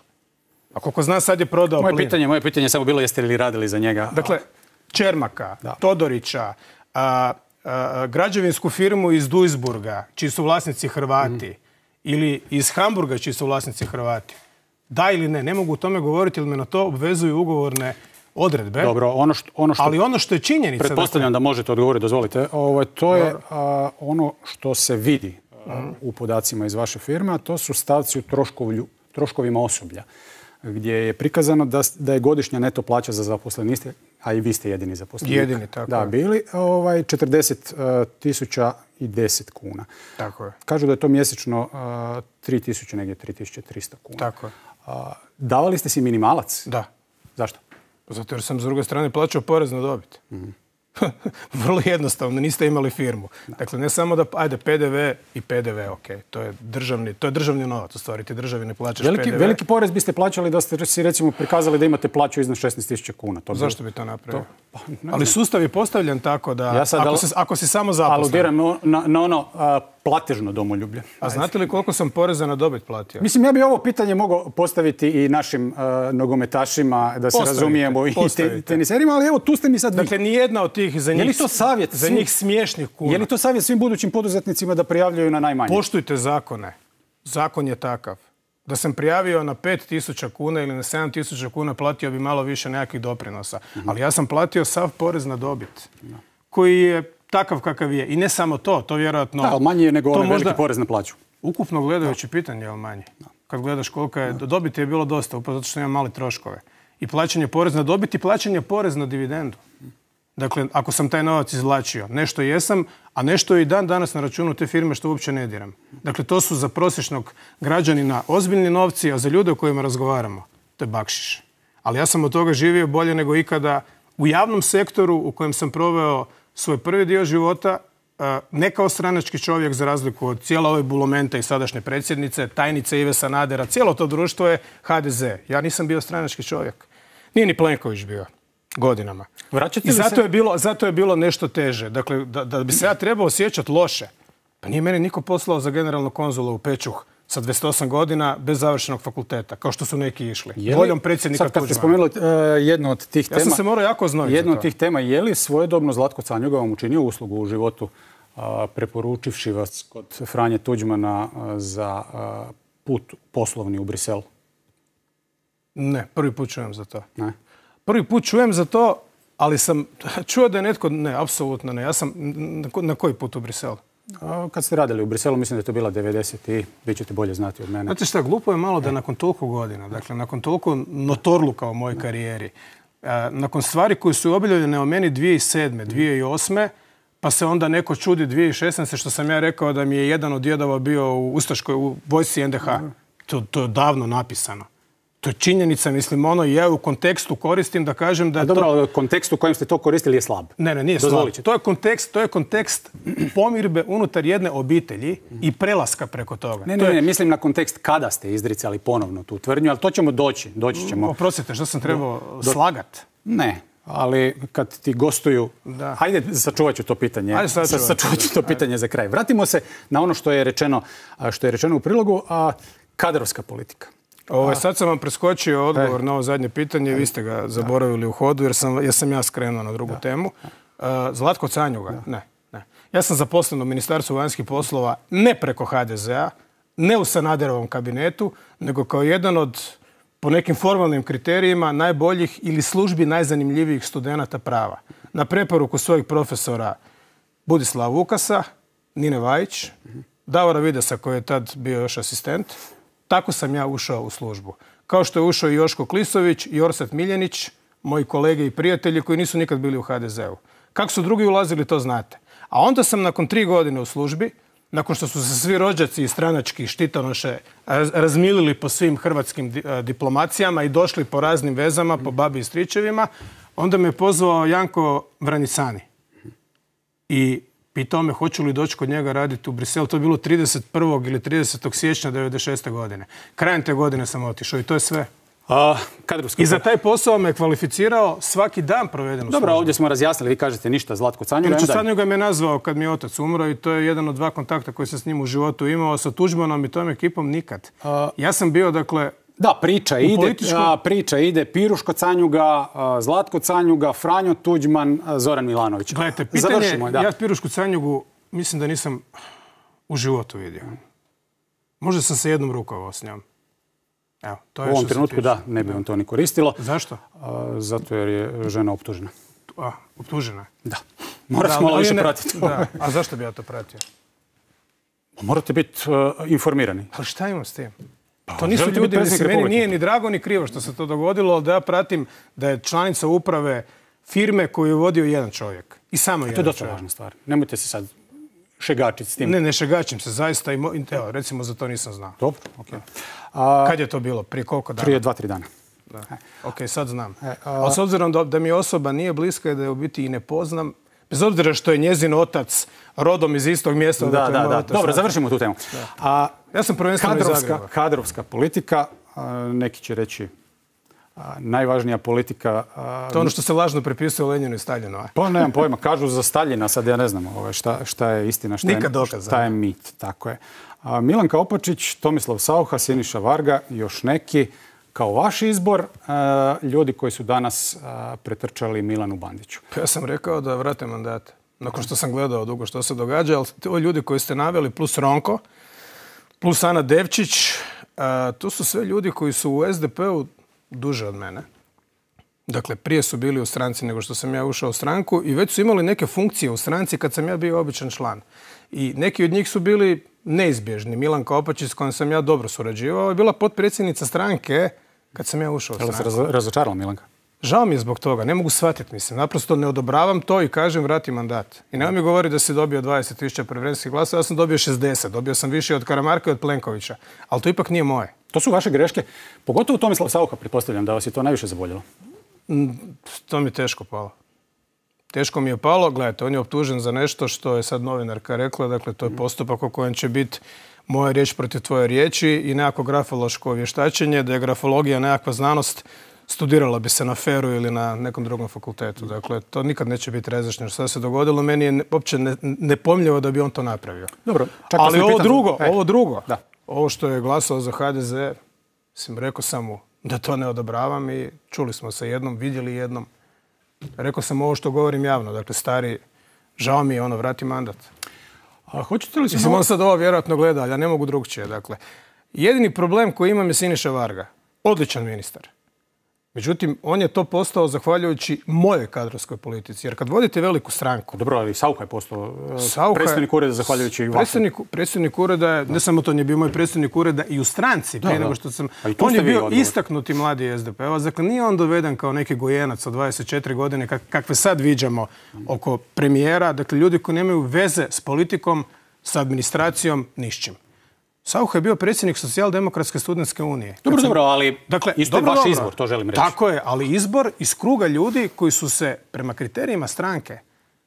A koliko zna, sad je prodao plin. Moje pitanje je samo bilo jeste li radili za njega. Dakle, Čermaka, Todorića, građevinsku firmu iz Duisburga, čiji su vlasnici Hrvati, ili iz Hamburga, čiji su vlasnici Hrvati. Da ili ne, ne mogu o tome govoriti, jer me na to obvezuju ugovorne odredbe. Dobro, ali ono što je činjenica... Pretpostavljam da možete odgovoriti, dozvolite. To je ono što se vidi u podacima iz vaše firme, a to su stavci u troškovima osoblja, gdje je prikazano da je godišnja neto plaća za zaposleniste, a i vi ste jedini zaposlenik. Jedini, tako da, bili 40.010 kuna. Tako je. Kažu da je to mjesečno 3.000, negdje 3.300 kuna. Tako je. Davali ste si minimalac? Da. Zašto? Zato jer sam s druge strane plaćao porez na dobit. Vrlo jednostavno, niste imali firmu. Dakle, ne samo da, PDV i PDV, ok, to je državni novac, u stvari, ti državi ne plaćaš PDV. Veliki porez biste plaćali da ste si recimo prikazali da imate plaću iznad 16.000 kuna. Zašto bi to napravio? Ali sustav je postavljen tako da, ako si samo zaposlen. Aludiram na ono platežno domoljublje. A znate li koliko sam poreza na dobit platio? Mislim, ja bi ovo pitanje mogao postaviti i našim nogometašima, da se razumijemo, i teniserima, ali evo, tu ste mi sad vi. Dakle, nijedna od tih za njih smiješnih kuna. Je li to savjet svim budućim poduzetnicima da prijavljaju na najmanje? Poštujte zakone. Zakon je takav. Da sam prijavio na 5.000 kuna ili na 7.000 kuna, platio bi malo više nekakvih doprinosa. Ali ja sam platio sav porez na dobit, koji je takav kakav je. I ne samo to, to vjerojatno... Da, ali manje je nego onaj veliki porez na plaću. Ukupno gledajući pitanje je manje. Kad gledaš koliko je... Dobit je bilo dosta, upravo zato što imam mali troškove. I plaćanje porez na dobit i plaćanje porez na dividendu. Dakle, ako sam taj novac izvlačio, nešto jesam, a nešto je i dan danas na računu te firme što uopće ne diram. Dakle, to su za prosječnog građanina ozbiljni novci, a za ljude o kojima razgovaramo, to je bakšiš. Ali ja sam od toga živio bolje nego ikada u javnom sektoru u kojem sam proveo svoj prvi dio života, ne kao stranački čovjek za razliku od cijela ove Bulumenta i sadašnje predsjednice, tajnice Ive Sanadera, cijelo to društvo je HDZ. Ja nisam bio stranački čovjek. Nije ni Plenković bio godinama. I zato je bilo nešto teže. Dakle, da bi se ja trebao osjećati loše, pa nije meni niko poslao za generalnog konzula u Pečuh sa 28 godina bez završenog fakulteta, kao što su neki išli. Voljom predsjednika Tuđmana. Sad kad ste spomenuli jednu od tih tema... Ja sam se morao jako znojiti jednu od tih tema, je li svojedobno Zlatko Canjuga vam učinio uslugu u životu preporučivši vas kod Franje Tuđmana za put poslovni u Brisel? Ne, prvi put čujem za to. Ne? Prvi put čujem za to, ali sam čuo da je netko... Ne, apsolutno ne. Ja sam... Na koji put u Brisel? Kad ste radili u Briselu, mislim da je to bila 90 i vi ćete bolje znati od mene. Znate šta, glupo je malo da nakon toliko godina, dakle nakon toliko notorluka u mojoj karijeri, nakon stvari koje su objavljene o meni 2007. 2008. pa se onda neko čudi 2016. što sam ja rekao da mi je jedan od djedova bio u ustaškoj u vojsci NDH. To je davno napisano. To je činjenica, mislim, ja u kontekstu koristim da kažem da... Dobro, ali kontekst u kojem ste to koristili je slab. Ne, nije slab. To je kontekst pomirbe unutar jedne obitelji i prelaska preko toga. Ne, mislim na kontekst kada ste izricali ponovno tu tvrdnju, ali to ćemo doći ćemo. Oprostite, što sam trebao slagat? Ne, ali kad ti gostuju... Hajde, sačuvat ću to pitanje. Sačuvat ću to pitanje za kraj. Vratimo se na ono što je rečeno u prilogu, kadrovska politika. Sad sam vam preskočio odgovor na ovo zadnje pitanje, vi ste ga zaboravili u hodu jer sam ja skrenuo na drugu temu. Zlatko Canjuga? Ne. Ja sam zaposlen u Ministarstvu vanjskih poslova ne preko HDZ-a, ne u Sanaderovom kabinetu, nego kao jedan od, po nekim formalnim kriterijima, najboljih ili službi najzanimljivijih studenata prava. Na preporuku svojih profesora Budislava Vukasa, Nine Vajić, Davora Videsa koji je tad bio još asistent. Tako sam ja ušao u službu. Kao što je ušao i Joško Klisović i Orsat Miljenić, moji kolege i prijatelji koji nisu nikad bili u HDZ-u. Kako su drugi ulazili, to znate. A onda sam nakon 3 godine u službi, nakon što su se svi rođaci i stranački štitonoše razmilili po svim hrvatskim diplomacijama i došli po raznim vezama, po babi i stričevima, onda me pozvao Janko Vranicani. I pitao me hoću li doći kod njega raditi u Brisel. To je bilo 31. ili 30. siječnja 1996. godine. Krajem te godine sam otišao i to je sve. I za taj posao me kvalificirao svaki dan proveden u službi. Dobro, ovdje smo razjasnili, vi kažete ništa, Zlatko Canjuga. Canjuga me nazvao kad mi je otac umro i to je jedan od 2 kontakta koji sam s njim u životu imao. Sa Tuđmanom i tom ekipom nikad. Ja sam bio, dakle... Da, priča ide Piruško Canjuga, Zlatko Canjuga, Franjo Tuđman, Zoran Milanović. Gledajte, pitanje, ja Pirušku Canjugu mislim da nisam u životu vidio. Možda sam se jednom rukovao s njom. Evo, to je u ovom trenutku da, ne bi vam to ni koristilo. Zašto? Zato jer je žena optužena. Optužena? Da. Morate malo više pratiti. A zašto bi ja to pratio? Morate biti informirani. Ali šta imam s tim? To nisu ljudi, meni nije ni drago ni krivo što se to dogodilo, ali da ja pratim da je članica uprave firme koju je vodio jedan čovjek. I samo jedan čovjek. To je dosta važna stvar. Nemojte se sad šegačiti s tim. Ne šegačim se, zaista. Evo, recimo za to nisam znao. Dobro, okej. Kad je to bilo? Prije koliko dana? Prije 2-3 dana. Ok, sad znam. Ali s obzirom da mi osoba nije bliska i da je u biti i ne poznam, bez obzira što je njezin otac rodom iz istog mjesta. Da. Dobro, završimo tu temu. Ja sam prvenstveno iz Zagreba. Kadrovska politika, neki će reći najvažnija politika... To je ono što se lažno prepisuje Lenjinu i Staljinu. Pa nemam pojma, kažu za Staljina, sad ja ne znam šta je istina, šta je mit. Tako je. Milanka Opačić, Tomislav Saucha, Siniša Varga, još neki, kao vaš izbor, ljudi koji su danas pretrčali Milanu Bandiću. Ja sam rekao da vrate mandate. Nakon što sam gledao dugo što se događa, ali to ljudi koji ste naveli, plus Ronko, plus Ana Devčić, to su sve ljudi koji su u SDP-u duže od mene. Dakle, prije su bili u stranci nego što sam ja ušao u stranku i već su imali neke funkcije u stranci kad sam ja bio običan član. I neki od njih su bili neizbježni. Milanka Opačić s kojom sam ja dobro surađivao je bila potpredsjednica stranke kad sam ja ušao u stranku. Jel se razočarala Milanka? Žao mi je zbog toga, ne mogu shvatiti, mislim. Naprosto ne odobravam to i kažem vrati mandat. I nema mi govori da si dobio 20.000 preferencijskih glasova, ja sam dobio 60. Dobio sam više od Karamarka i od Plenkovića. Ali to ipak nije moje. To su vaše greške. Pogotovo Tomislav Saucha, pretpostavljam da vas je to najviše zaboljelo. To mi je teško palo. Teško mi je palo. Gledajte, on je optužen za nešto što je sad novinarka rekla. Dakle, to je postupak u kojem će biti moja riječ protiv tvoje riječi i nekako grafološko vještačenje. Da je grafologija nekakva znanost, studirala bi se na FER-u ili na nekom drugom fakultetu. Dakle, to nikad neće biti razjašnjeno što se dogodilo. Meni je uopće nepojmljivo da bi on to napravio. Dobro, ali ovo drugo, ovo što je glasao za HDZ, rekao sam mu da to ne odobravam i čuli smo se jednom, vidjeli jednom. Rekao sam ovo što govorim javno. Dakle, stari, žao mi je, vrati mandat. A hoćete li se... On sad ovo vjerojatno gleda, ali ja ne mogu drugčije. Dakle, jedini problem koji imam je Siniša Varga. Odličan ministar. Međutim, on je to postao zahvaljujući mojoj kadrovskoj politici. Jer kad vodite veliku stranku... Dobro, ali Saucha je postao predsjednik ureda zahvaljujući vašem. Predsjednik ureda je, ne samo to, on je bio moj predsjednik ureda i u stranci. Prije nego što sam... On je bio istaknuti mladi SDP-ovac. Dakle, nije on doveden kao neki gojenac od 24 godine, kakve sad viđamo oko premijera. Dakle, ljudi koji nemaju veze s politikom, s administracijom, ni s čim. Saucha je bio predsjednik Socijaldemokratske studentske unije. Dobro, ali isto je vaš izbor, to želim reći. Tako je, ali izbor iz kruga ljudi koji su se prema kriterijima stranke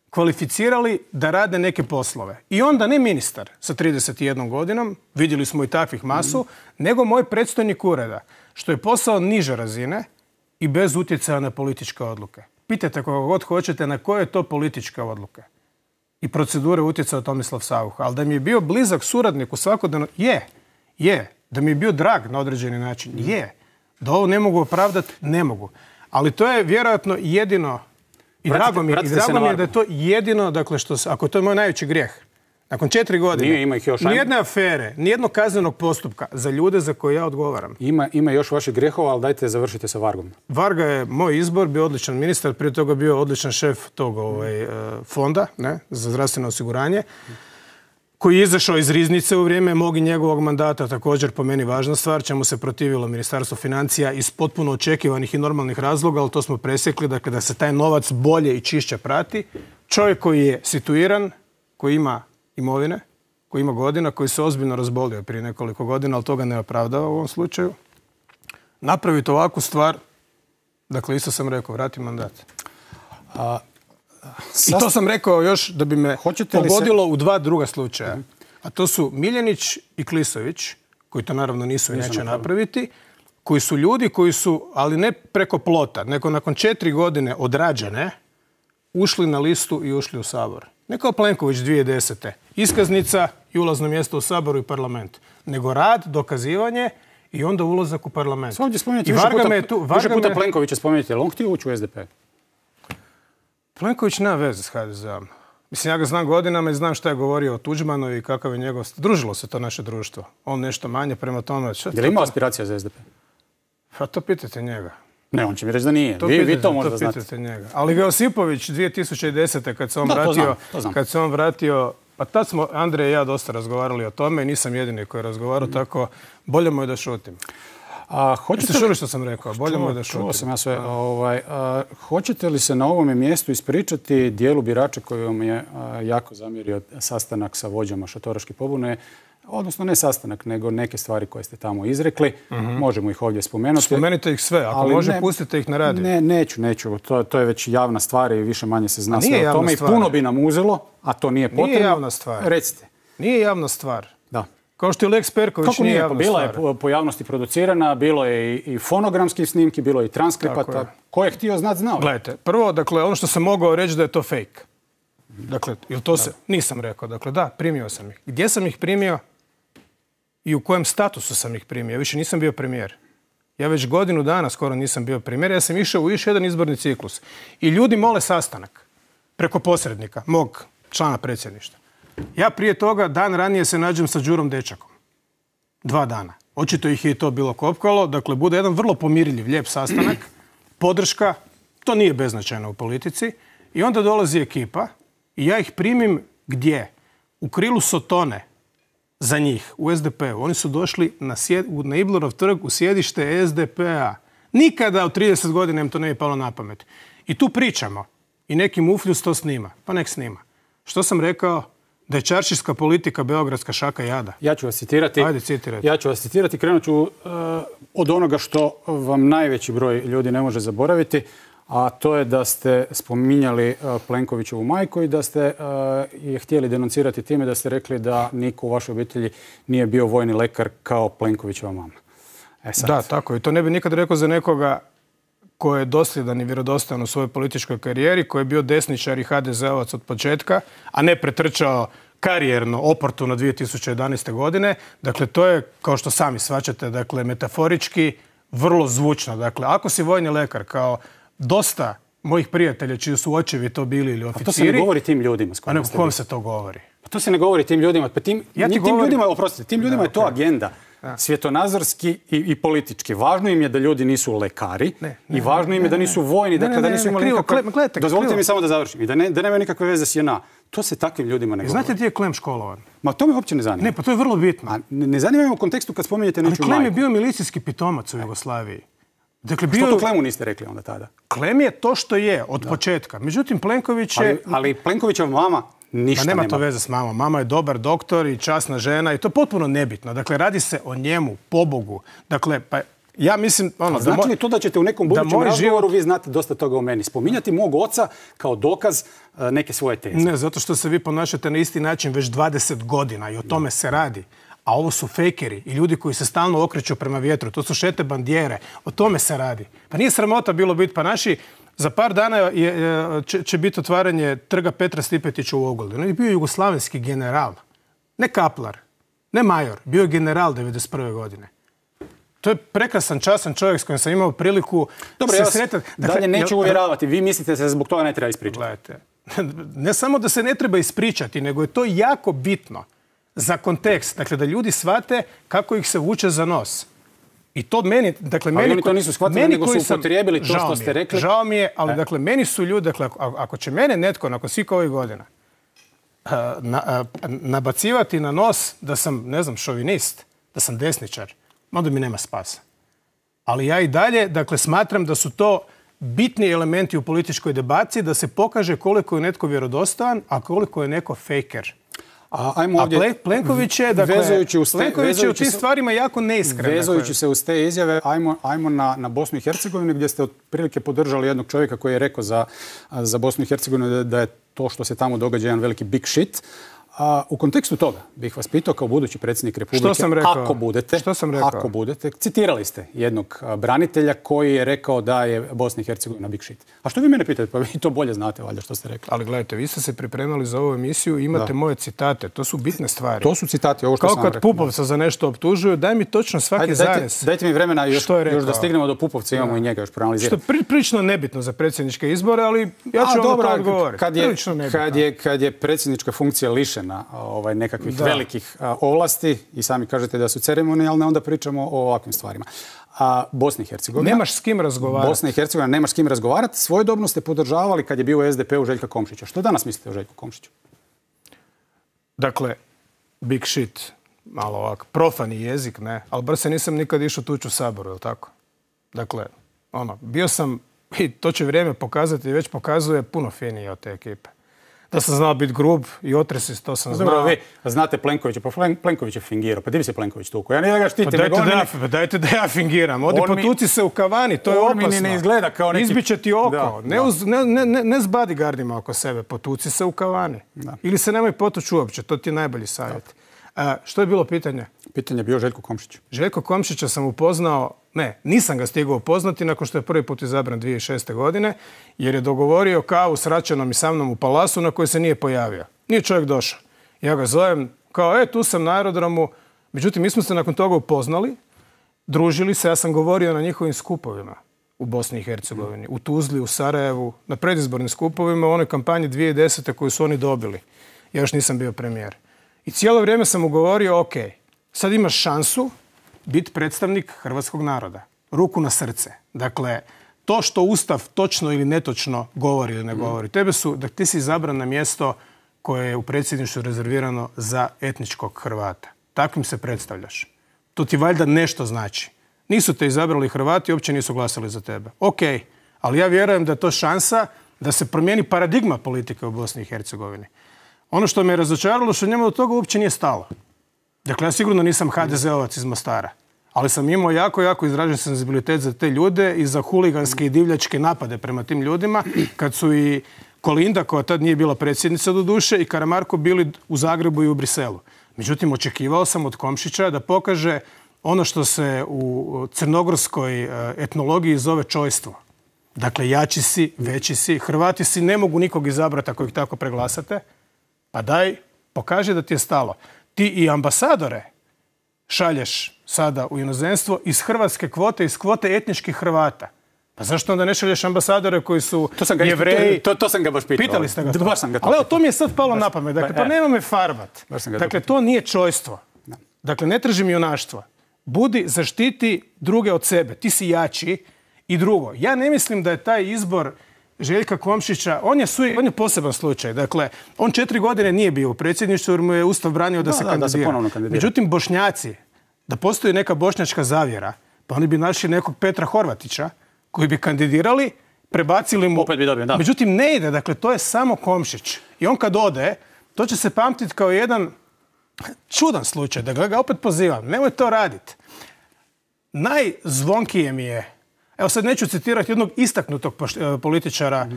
kvalificirali da rade neke poslove. I onda ne ministar sa 31 godinom, vidjeli smo i takvih masu, nego moj predstojnik ureda, što je posao niže razine i bez utjecaja na političke odluke. Pitajte koga god hoćete na koje je to političke odluke i procedure utjecao Tomislav Saucha. Ali da mi je bio blizak suradnik u svakodnevno... Je. Da mi je bio drag na određeni način. Je. Da ovo ne mogu opravdati, ne mogu. Ali to je vjerojatno jedino... I drago mi je da je to jedino, dakle, ako to je moj najveći grijeh. Nakon 4 godine, nijedne afere, nijednog kaznenog postupka za ljude za koje ja odgovaram. Ima još vaših grijehova, ali dajte završite sa Vargom. Varga je moj izbor, bio odličan ministar, prije toga bio odličan šef tog fonda za zdravstveno osiguranje, koji je izašao iz riznice u vrijeme mog i njegovog mandata, također po meni važna stvar, čemu se protivilo Ministarstvo financija iz potpuno očekivanih i normalnih razloga, ali to smo presjekli, dakle, da se taj novac bolje i čišće prati. Čovjek koji je situiran, koji ima imovine, koji ima godina, koji se ozbiljno razbolio prije nekoliko godina, ali toga ne opravdava u ovom slučaju. Napraviti ovakvu stvar, dakle, isto sam rekao, vrati mandat. I to sam rekao još da bi me pogodilo u 2 druga slučaja. A to su Miljenić i Klisović, koji to naravno nisu i neće napraviti, koji su ljudi koji su, ali ne preko plota, nego nakon 4 godine odrađene, ušli na listu i ušli u Sabor. Ne kao Plenković 2010. Iskaznica i ulazno mjesto u Saboru i parlament. Nego rad, dokazivanje i onda ulazak u parlament. Ovdje spominjate više puta Plenkovića spominjate, ali on htio ući u SDP? Plenković nema veze s HDZ-om. Mislim, ja ga znam godinama i znam šta je govorio o Tuđmanu i kakav je njegov... Družilo se to naše društvo. On nešto manje prema tome... Je li imao aspiracija za SDP? Pa to pitajte njega. Ne, on će mi reći da nije. Vi to možda znate. Pitajte njega. Ali Josipović 2010. kad se on vratio... Pa tad smo Andrej i ja dosta razgovarali o tome i nisam jedini koji je razgovarao, tako bolje mu je da šutim. Ste čuli što sam rekao? Bolje mu je da šutim. Čuo sam ja sve. Hoćete li se na ovome mjestu ispričati dijelu birača koji vam je jako zamjerio sastanak sa vođama šatoraške pobune? Odnosno ne sastanak, nego neke stvari koje ste tamo izrekli. Možemo ih ovdje spomenuti. Spomenite ih sve. Ako može, pustite ih na radio. Neću. To je već javna stvar i više manje se zna sve o tome. I puno bi nam uzelo, a to nije potrebno. Nije javna stvar. Recite. Nije javna stvar. Da. Kao što je Lex Perković nije javna stvar. Bila je po javnosti producirana, bilo je i fonogramskih snimki, bilo je i transkripata. Ko je htio znat, znao. Gledajte, prvo, dakle, ono što sam mogao reći da je to fake. Dakle, nisam rekao. Dakle, da, primio sam ih. Gdje sam ih primio i u kojem statusu sam ih primio? Ja više nisam bio premijer. Ja već godinu dana skoro nisam bio premijer. Ja sam išao u još jedan izborni ciklus. I ljudi mole sastanak preko posrednika, mog člana predsjedništva. Ja prije toga, dan ranije se nađem sa Đurom Dečakom. 2 dana. Očito ih je i to bilo kopkalo. Dakle, bude jedan vrlo pomirljiv, lijep sastanak. Podrška. To nije beznačajno u politici. I onda dolazi ekipa i ja ih primim gdje? U krilu Sotone za njih, u SDP-u. Oni su došli na Iblerov trg u sjedište SDP-a. Nikada u 30 godina im to ne bi palo na pamet. I tu pričamo. I neki mufljus to snima. Pa nek snima. Što sam rekao? Da je čaršijska politika beogradska šaka jada. Ja ću vas citirati. Ajde, citirajte. Ja ću vas citirati. Krenut ću od onoga što vam najveći broj ljudi ne može zaboraviti. a to je da ste spominjali Plenkovićevu majku i da ste je htjeli denuncirati time da ste rekli da niko u vašoj obitelji nije bio vojni lekar kao Plenkovićeva mama. Da, tako. I to ne bi nikad rekao za nekoga koji je dosljedan i vjerodostojan u svojoj političkoj karijeri, koji je bio desničar i HDZ-ovac od početka, a ne pretrčao karijerno, oportuno 2011. godine. Dakle, to je, kao što sami shvaćate, dakle, metaforički vrlo zvučno. Dakle, ako si vojni lekar, kao dosta mojih prijatelja čiji su očevi to bili ili oficiri... A to se ne govori tim ljudima s kojima ste bili. Kom se to govori? Pa to se ne govori tim ljudima. Pa tim ljudima, oprostite, tim ljudima je to agenda. Svjetonazorski i politički. Važno im je da ljudi nisu lekari i važno im je da nisu vojni, dakle da nisu imali nikakve... Dozvolite mi samo da završim. I da nema nikakve veze s JNA. To se takvim ljudima ne govori. Znate gdje je Klem školovan? Ma to me uopće ne zanima. Ne, pa to je vrlo bitno. A ne zanima me u kontekstu kad spominjete nečiju majku. Ali Klem je bio milicijski pitomac u Jugoslaviji. Dakle, što to Klemu niste rekli onda tada? Klem je to što je od početka. Međutim, Plenković je... Ali Plenkovićeva mama ništa nema. Nema to veze s mamom. Mama je dobar doktor i časna žena i to je potpuno nebitno. Dakle, radi se o njemu, pobogu. Dakle, pa ja mislim... Znači li to da ćete u nekom budućem razgovoru, vi znate dosta toga o meni, spominjati mog oca kao dokaz neke svoje teze? Ne, zato što se vi ponašate na isti način već 20 godina i o tome se radi. A ovo su fejkeri i ljudi koji se stalno okreću prema vjetru. To su šete bandijere. O tome se radi. Pa nije sramota bilo biti. Pa naši, za par dana će biti otvaranje trga Petra Stipetića u Ogulinu. On je bio jugoslavenski general. Ne kaplar, ne major. Bio je general 1991. godine. To je prekrasan, časan čovjek s kojim sam imao priliku se sretati. Dalje neću uvjeravati. Vi mislite da se zbog toga ne treba ispričati? Gledajte, ne samo da se ne treba ispričati, nego je to jako bitno za kontekst. Dakle, da ljudi shvate kako ih se vuče za nos. I to meni, dakle, ali oni to nisu shvatili, nego su upotrijebili to što ste rekli. Žao mi je, ali dakle, meni su ljudi, dakle, ako će mene netko nakon svih ovih godina nabacivati na nos da sam, ne znam, šovinist, da sam desničar, onda mi nema spasa. Ali ja i dalje, dakle, smatram da su to bitni elementi u političkoj debati, da se pokaže koliko je netko vjerodostojan, a koliko je neko fejker. A Plenković je, dakle, Plenković je u tim stvarima jako neiskren. Vezujući se uz te izjave, ajmo na Bosnu i Hercegovinu, gdje ste otprilike podržali jednog čovjeka koji je rekao za Bosnu i Hercegovinu da je to što se tamo događa jedan veliki big shit. U kontekstu toga bih vas pitao kao budući predsjednik Republike, ako budete, citirali ste jednog branitelja koji je rekao da je Bosna i Hercegovina big shit. A što vi mene pitate? Pa vi to bolje znate, valjda, što ste rekli. Ali gledajte, vi ste se pripremali za ovu emisiju i imate moje citate. To su bitne stvari. To su citati, ovo što sam rekao. Kao kad Pupovca za nešto optužuju, daj mi točno svaki zarez. Dajte mi vremena još da stignemo do Pupovca, imamo i njega još proanalizirati. Što je prilično nebitno za predsjedničke izbore, ali ja ću vam to odgovoriti. Kad je predsjednička funkcija lišena nekakvih velikih ovlasti i sami kažete da su ceremonijalne, onda pričamo o ovakvim stvarima. Bosna i Hercegovina... Nemaš s kim razgovarati. Bosna i Hercegovina nemaš s kim razgovarati. Svojedobno ste podržavali kad je bio u SDP-u Željka Komšića. Što danas mislite o Željku Komšiću? Dakle, big shit, malo ovako, profani jezik, ne, ali bar se nisam nikad išao tući u Saboru, je li tako? Dakle, bio sam, i to će vrijeme pokazati, već pokazuje puno finije od te ekipe. Da sam znao biti grub i otresist, to sam znao. Dobro, vi znate Plenkovića, pa Plenković je fingirao. Pa di bi se Plenković tuku? Ja nije da ga štitim. Dajte da ja fingiram. Odi potuci se u kavani, to je opasno. On mi ne izgleda kao neki... Izbiće ti oko. Ne s bodyguardima oko sebe. Potuci se u kavani. Ili se nemoj potući uopće. To ti je najbolji savjet. Što je bilo pitanje? Pitanje je bio Željko Komšić. Željko Komšića sam upoznao, nisam ga stigao upoznati nakon što je prvi put izabran 2006. godine, jer je dogovorio kavu s Račanom i sa mnom u Palasu na kojoj se nije pojavio. Nije čovjek došao. Ja ga zovem kao, tu sam na aerodromu. Međutim, mi smo se nakon toga upoznali, družili se, ja sam govorio na njihovim skupovima u Bosni i Hercegovini, u Tuzli, u Sarajevu, na predizbornim skupovima u onoj kampanji 2010. koju su oni dobili. Ja još nisam bio premijer. I cijelo vrijeme sam mu govorio, ok, sad imaš šansu biti predstavnik hrvatskog naroda. Ruku na srce. Dakle, to što Ustav točno ili netočno govori ili ne govori. Ti si izabran na mjesto koje je u predsjedništvu rezervirano za etničkog Hrvata. Takvim se predstavljaš. To ti valjda nešto znači. Nisu te izabrali Hrvati, uopće nisu glasali za tebe. Ok, ali ja vjerujem da je to šansa da se promijeni paradigma politike u Bosni i Hercegovini. Ono što me je razočaralo, što njemu do toga uopće nije stalo. Dakle, ja sigurno nisam HDZ-ovac iz Mostara. Ali sam imao jako izražen senzibilitet za te ljude i za huliganske i divljačke napade prema tim ljudima, kad su i Kolinda, koja tad nije bila predsjednica do duše, i Karamarko bili u Zagrebu i u Briselu. Međutim, očekivao sam od Komšića da pokaže ono što se u crnogorskoj etnologiji zove čojstvo. Dakle, jači si, veći si, Hrvati si ne mogu nikog izabrati ako ih tako preglasate, pa daj, pokaži da ti je stalo. Ti i ambasadore šalješ sada u inozemstvo iz hrvatske kvote, iz kvote etničkih Hrvata. Pa zašto onda ne šalješ ambasadore koji su Jevreji? To sam ga baš pitao. Pitali ste ga to. Baš sam ga to ali evo, to mi je sad palo na pamet. Dakle, pa nema me farbat. Dakle, to nije čojstvo. Dakle, ne tražim junaštvo. Budi, zaštiti druge od sebe. Ti si jači. I drugo, ja ne mislim da je taj izbor Željka Komšića, on je poseban slučaj. Dakle, on 4 godine nije bio u predsjedništvu jer mu je Ustav branio da se kandidira. Međutim, Bošnjaci, da postoji neka bošnjačka zavjera, pa oni bi našli nekog Petra Horvatića koji bi kandidirali, prebacili mu. Opet bi dobio, da. Međutim, ne ide. Dakle, to je samo Komšić. I on kad ode, to će se pamtiti kao jedan čudan slučaj. Dakle, ga opet pozivam. Nemoj to raditi. Najzvonkije mi je, evo sad neću citirati jednog istaknutog političara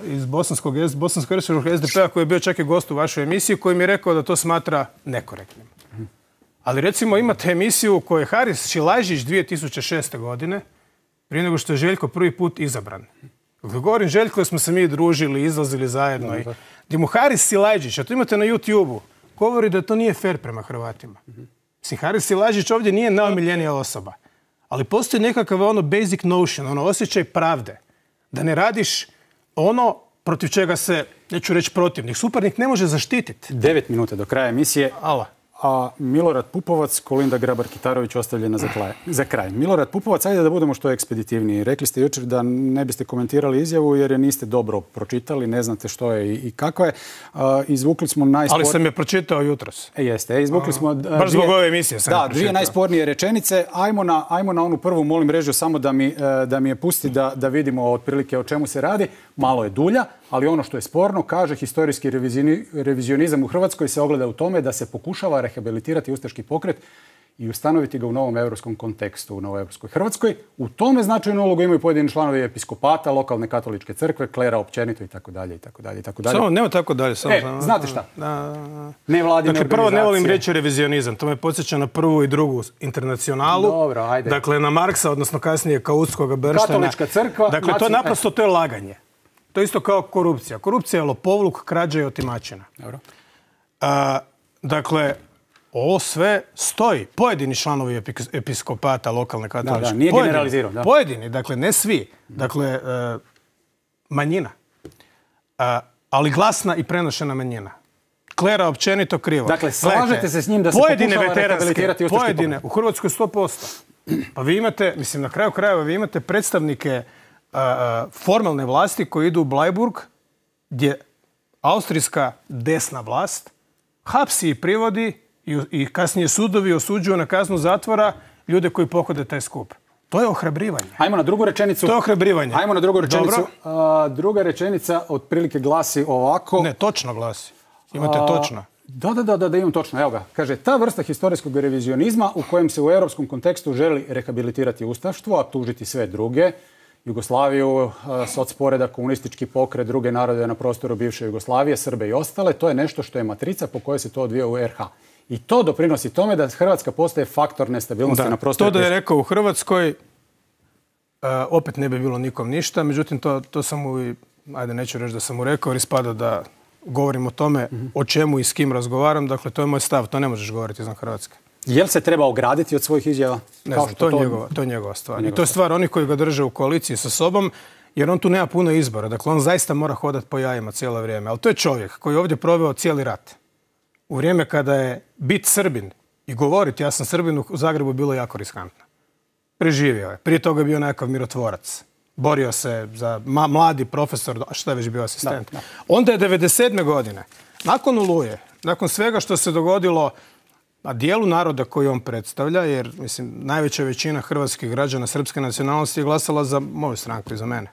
iz bosansko-hercegovačkog SDP-a koji je bio čak i gost u vašoj emisiji, koji mi je rekao da to smatra nekorektnim. Ali recimo imate emisiju u kojoj je Haris Šilajžić 2006. godine, prije nego što je Željko prvi put izabran. Dakle, govorim Željko, da smo se mi družili, izlazili zajedno. Gdje mu Haris Šilajžić, a to imate na YouTube-u, govori da to nije fair prema Hrvatima. Mislim, Haris Šilajžić ovdje nije najomiljenija osoba. Ali postoji nekakav basic notion, osjećaj pravde. Da ne radiš ono protiv čega se, neću reći protivnik, suparnik ne može zaštititi. 9 minuta do kraja emisije. Ala. A Milorad Pupovac, Kolinda Grabar-Kitarović ostavljena za kraj. Milorad Pupovac, ajde da budemo što ekspeditivniji. Rekli ste jučer da ne biste komentirali izjavu jer je niste dobro pročitali, ne znate što je i kako je. Izvukli smo Ali sam je pročitao jutros. Jeste, izvukli smo... Baš zbog ove emisije sam je pročitao. Dvije najspornije rečenice. Ajmo na onu prvu, molim režiju samo da mi je pusti da vidimo otprilike o čemu se radi. Malo je dulja, ali ono što je sporno, kaže, historijski revizionizam u Hrvatskoj se ogleda u tome da se pokušava rehabilitirati ustaški pokret i ustanoviti ga u novom europskom kontekstu, u novoj europskoj Hrvatskoj. U tome značajnu ulogu imaju pojedini članovi episkopata, lokalne katoličke crkve, klera općenito itd. Samo, nema tako dalje. Znate šta? Nevladine organizacije. Prvo ne volim reći revizionizam. To me podsjeća na prvu i drugu internacionalu. Dobro, ajde. Dakle, na Marksa, odnosno kasnije Kautskog Bernsteina. Katolička crkva. Dakle, to je naprosto, to je laganje. To je isto kao korupcija. Korupcija je lopovluk, krađa i otimačina. Dobro. Dakle, ovo sve stoji. Pojedini članovi episkopata, lokalne katoličke. Da, nije generalizirao. Pojedini, dakle, ne svi. Dakle, manjina. Ali glasna i prenošena manjina. Klera općenito krivo. Dakle, slažete se s njim da se pokušava rehabilitirati ustaški pokret? Pojedine, u Hrvatskoj 100%. Pa vi imate, mislim, na kraju krajeva, vi imate predstavnike formalne vlasti koji idu u Blajburg, gdje austrijska desna vlast hapsi i privodi i kasnije sudovi osuđuju na kaznu zatvora ljude koji pohode taj skup. To je ohrabrivanje. Ajmo na drugu rečenicu. To je ohrabrivanje. Ajmo na drugu rečenicu. Druga rečenica otprilike glasi ovako. Ne, točno glasi. Imate točno. Da, imam točno. Evo ga. Kaže, ta vrsta historijskog revizionizma u kojem se u europskom kontekstu želi rehabilitirati ustaštvo, a tužiti sve druge, Jugoslaviju, socporedak, komunistički pokret, druge narode na prostoru bivše Jugoslavije, Srbe i ostale, to je nešto što je matrica po kojoj se to odvija u RH. I to doprinosi tome da Hrvatska postaje faktor nestabilnosti na prostoru. To da je rekao u Hrvatskoj, opet ne bi bilo nikom ništa, međutim to sam mu, ajde neću reći da sam mu rekao, jer ispada da govorim o tome o čemu i s kim razgovaram, dakle to je moj stav, to ne možeš govoriti izvan Hrvatske. Jel se treba ograditi od svojih izjava? Ne znam, to je njegova stvar. I to je stvar onih koji ga drže u koaliciji sa sobom, jer on tu nema puno izbora. Dakle, on zaista mora hodati po jajima cijelo vrijeme. Ali to je čovjek koji je ovdje proveo cijeli rat. U vrijeme kada je bit Srbin i govoriti ja sam Srbin u Zagrebu bilo jako riskantno. Preživio je. Prije toga je bio nekakav mirotvorac. Borio se za mladi profesor, a šta je već bio asistent. Da. Onda je 1997. godine, nakon Oluje, nakon svega što se dogodilo dijelu naroda koji on predstavlja, jer mislim, najveća većina hrvatskih građana srpske nacionalnosti je glasala za moju stranku i za mene.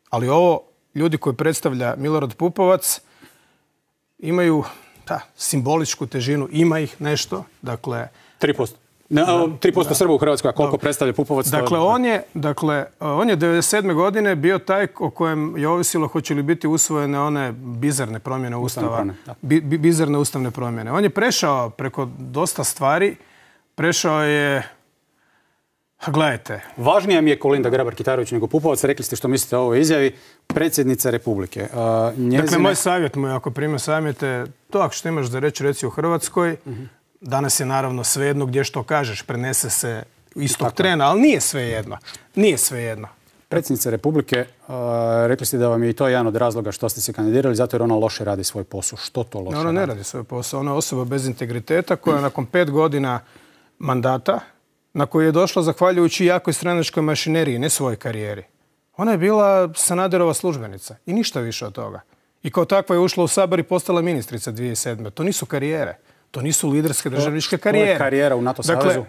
Ali ovo, ljudi koji predstavlja Milorad Pupovac, imaju simboličku težinu, ima ih nešto, dakle... 3%. 3% Srba u Hrvatskoj, a koliko predstavlja Pupovac? Dakle, on je 1997. godine bio taj o kojem je ovisilo hoće li biti usvojene one bizarne promjene Ustava. Bizarne ustavne promjene. On je prešao preko dosta stvari. Prešao je... Gledajte. Važnija mi je Kolinda Grabar-Kitarović nego Pupovac. Rekli ste što mislite o ovoj izjavi. Predsjednica Republike. Dakle, moj savjet mu je, ako prime savjete, to ako što imaš za reći, reci u Hrvatskoj. Danas je naravno svejedno gdje što kažeš, prenese se istog trena, ali nije svejedno. Nije svejedno. Predsjednica Republike, rekli ste da vam je i to jedan od razloga što ste se kandidirali, zato jer ona loše radi svoj posao. Što to loše radi? Ona ne radi svoj posao. Ona je osoba bez integriteta koja nakon 5 godina mandata, na koju je došla zahvaljujući jakoj stranačkoj mašineriji, ne svojoj karijeri. Ona je bila Sanaderova službenica i ništa više od toga. I kao takva je ušla u Sabor i postala ministrica 2007. To nisu karijere. To nisu liderske državničke karijere. To je karijera u NATO savezu? Dakle,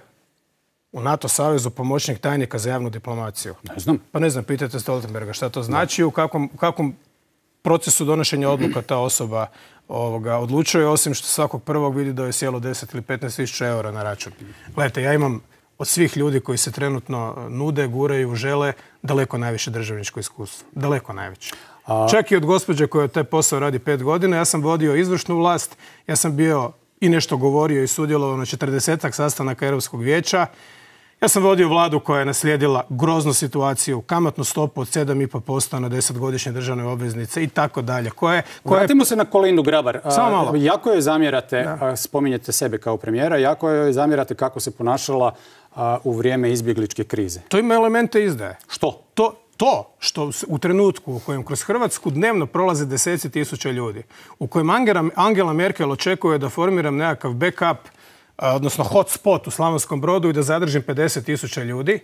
u NATO savezu pomoćnik tajnika za javnu diplomaciju. Ne znam. Pa ne znam, pitajte Stoltenberga šta to znači, u kakvom procesu donošenja odluka ta osoba odlučuje, osim što svakog prvog vidi da je sjelo 10 ili 15 tisuća eura na račun. Gledajte, ja imam od svih ljudi koji se trenutno nude, guraju, žele, daleko najviše državničko iskustvo. Daleko najviše. Čak i od gospođe koja taj posao radi 5 godina. Ja sam vodio izvršnu vlast, ja sam bio i nešto govorio i sudjelovao na 40-ak sastanaka Europskog vijeća. Ja sam vodio vladu koja je naslijedila groznu situaciju, kamatnu stopu od 7,5% na 10-godišnje državne obveznice i tako dalje. Vratimo se na Kolindu Grabar. Samo malo. Jako joj zamjerate, spominjete sebe kao premijera, jako joj zamjerate kako se ponašala u vrijeme izbjegličke krize. To ima elemente izdaje. Što? To što u trenutku u kojem kroz Hrvatsku dnevno prolaze 10.000 ljudi, u kojem Angela Merkel očekuje da formiram nekakav backup, odnosno hotspot u Slavonskom Brodu i da zadržim 50.000 ljudi,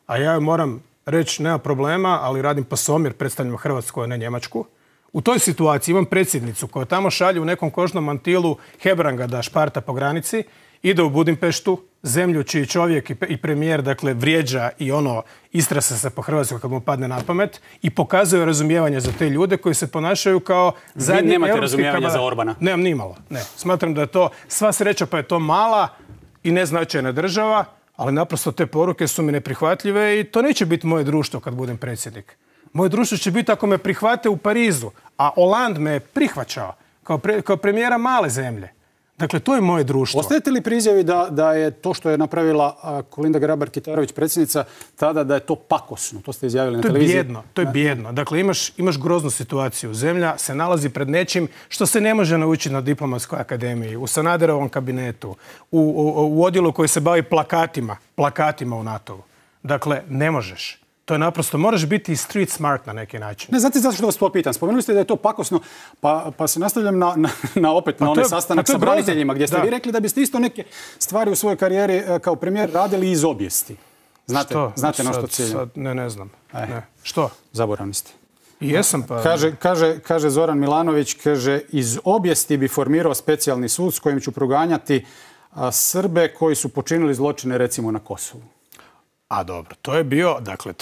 a ja moram reći nema problema, ali radim pasomir, predstavljam Hrvatsku, a ne Njemačku. U toj situaciji imam predsjednicu koja tamo šalje u nekom kožnom mantilu Hebranga da šparta po granici, ide u Budimpeštu, zemlju čiji čovjek i premijer, dakle, vrijeđa i istrasa se po Hrvatskoj kad mu padne na pamet i pokazuje razumijevanje za te ljude koji se ponašaju kao zadnji Vi nemate razumijevanja za Orbana? Nemam nimalo, ne. Smatram da je to sva sreća, pa je to mala i neznačajna država, ali naprosto te poruke su mi neprihvatljive i to neće biti moje društvo kad budem predsjednik. Moje društvo će biti ako me prihvate u Parizu, a Hollande me je prihvaćao kao premijera male zemlje. Dakle, to je moje društvo. Ostajete li pri izjavi da je to što je napravila Kolinda Grabar-Kitarović, predsjednica, tada da je to pakosno? To ste izjavili na televiziji. To je bijedno. Dakle, imaš groznu situaciju. Zemlja se nalazi pred nečim što se ne može naučiti na Diplomatskoj akademiji, u Sanaderovom kabinetu, u odjelu koji se bavi plakatima u NATO-u. Dakle, ne možeš. To je naprosto, moraš biti street smart na neki način. Ne, znate zašto što vas to pitam? Spomenuli ste da je to pakosno, pa se nastavljam na onaj sastanak sa braniteljima, gdje ste vi rekli da biste isto neke stvari u svojoj karijeri kao premijer radili iz obijesti. Znate na što ciljam? Ne znam. Što? Zaboravni ste. Jesam pa... Kaže Zoran Milanović, kaže, iz obijesti bi formirao specijalni sud s kojim ću proganjati Srbe koji su počinili zločine recimo na Kosovu. A dobro, to je bio, dakle,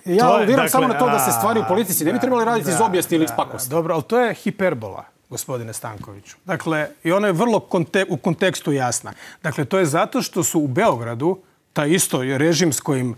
ja aludiram samo na to da se stvari u politici ne bi trebali raditi iz obijesti ili iz pakosti. Dobro, ali to je hiperbola, gospodine Stankoviću. Dakle, i ona je vrlo u kontekstu jasna. Dakle, to je zato što su u Beogradu, taj isto režim s kojim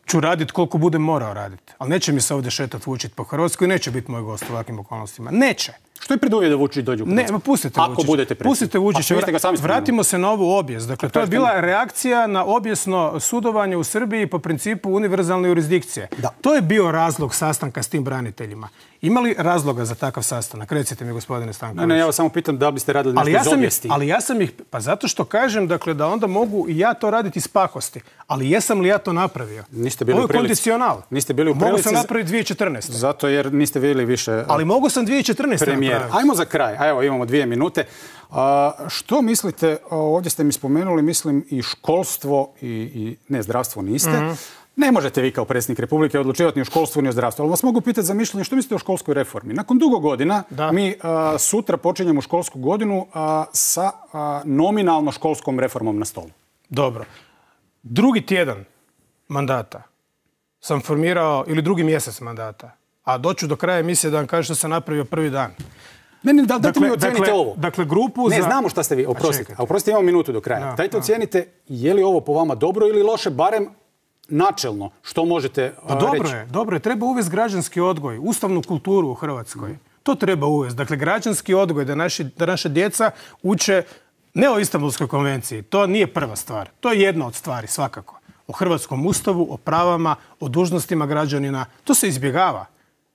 ću raditi koliko budem morao raditi. Ali neće mi se ovdje šetati Vučić po Hrvatskoj i neće biti moj gost u ovakvim okolnostima. Neće. Što je preduvjet da Vučić dođe u Hrvatsku? Ne, pustite Vučića. Ako budete predsjednik. Pustite Vučića. Vratimo se na ovu obijest. Dakle, to je bila reakcija na obijesno sudovanje u Srbiji po principu univerzalne jurisdikcije. To je bio razlog sastanka s tim braniteljima. Ima li razloga za takav sastanak? Recite mi, gospodine Stanković. Ne, ja vas samo pitam da li biste radili nešto iz obijesti. Ali ja sam ih, pa zato što kažem, dakle, da onda mogu i ja to raditi iz pakosti. Ali jesam li ja to napravio? Niste bili u prilici. Ovo je kondicional. Niste bili u prilici. Mogu sam napraviti 2014. Zato jer niste bili više ali mogu sam 2014. premijer. Ajmo za kraj. Evo, imamo 2 minute. Što mislite, ovdje ste mi spomenuli, mislim, i školstvo i ne, zdravstvo niste. Ne možete vi kao predsjednik Republike odlučivati ni o školstvu ni o zdravstvu. Ali vas mogu pitati za mišljenje što mislite o školskoj reformi. Nakon dugo godina mi sutra počinjemo školsku godinu sa nominalno školskom reformom na stolu. Dobro. Drugi tjedan mandata sam formirao, ili drugi mjesec mandata, a doću do kraja emisije da vam kažem što sam napravio prvi dan. Ne, dajte mi ocijenite ovo. Dakle, grupu ne, znamo šta ste vi, oprostite. A oprostite, imamo minutu do kraja. Dajte ocijenite je li ovo po vama dobro ili loše, barem načelno. Što možete reći? Dobro je. Treba uvesti građanski odgoj, ustavnu kulturu u Hrvatskoj. To treba uvesti. Dakle, građanski odgoj, da naša djeca uče ne o Istanbulskoj konvenciji. To nije prva stvar. To je jedna od stvari, svakako. O hrvatskom ustavu, o pravama, o dužnostima građanina. To se izbjegava.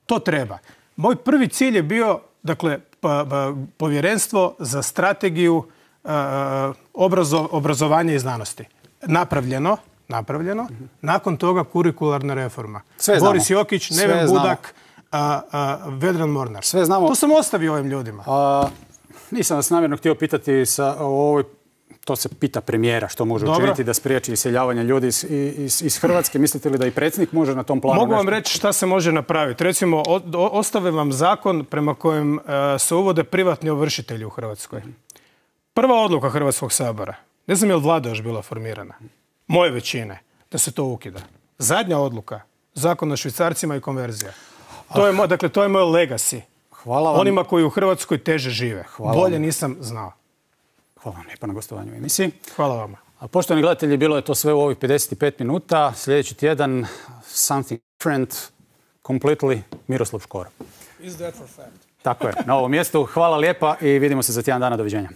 To treba. Moj prvi cilj je bio, dakle, povjerenstvo za strategiju obrazovanja i znanosti. Napravljeno. Nakon toga kurikularna reforma. Boris Jokić, Neven Budak, Vedran Mornar. Sve znamo. To sam ostavio ovim ljudima. Nisam vas namjerno htio pitati to se pita premijera što može učiniti da spriječi iseljavanje ljudi iz Hrvatske. Mislite li da i predsjednik može na tom planu? Mogu vam reći šta se može napraviti. Recimo, ostave vam zakon prema kojem se uvode privatni ovršitelji u Hrvatskoj. Prva odluka Hrvatskog sabora. Ne znam je li vlada još bila formirana. Moje većine. Da se to ukida. Zadnja odluka. Zakon o švicarcima i konverzija. To je moj legacy. Hvala vam. Onima koji u Hrvatskoj teže žive. Bolje nisam znao. Hvala vam lijepa na gostovanju u emisiji. Hvala vama. A poštovani gledatelji, bilo je to sve u ovih 55 minuta. Sljedeći tjedan something different, completely, Miroslav Škoro. Is that for fact? Tako je, na ovom mjestu. Hvala lijepa i vidimo se za tjedan dana. Doviđenja.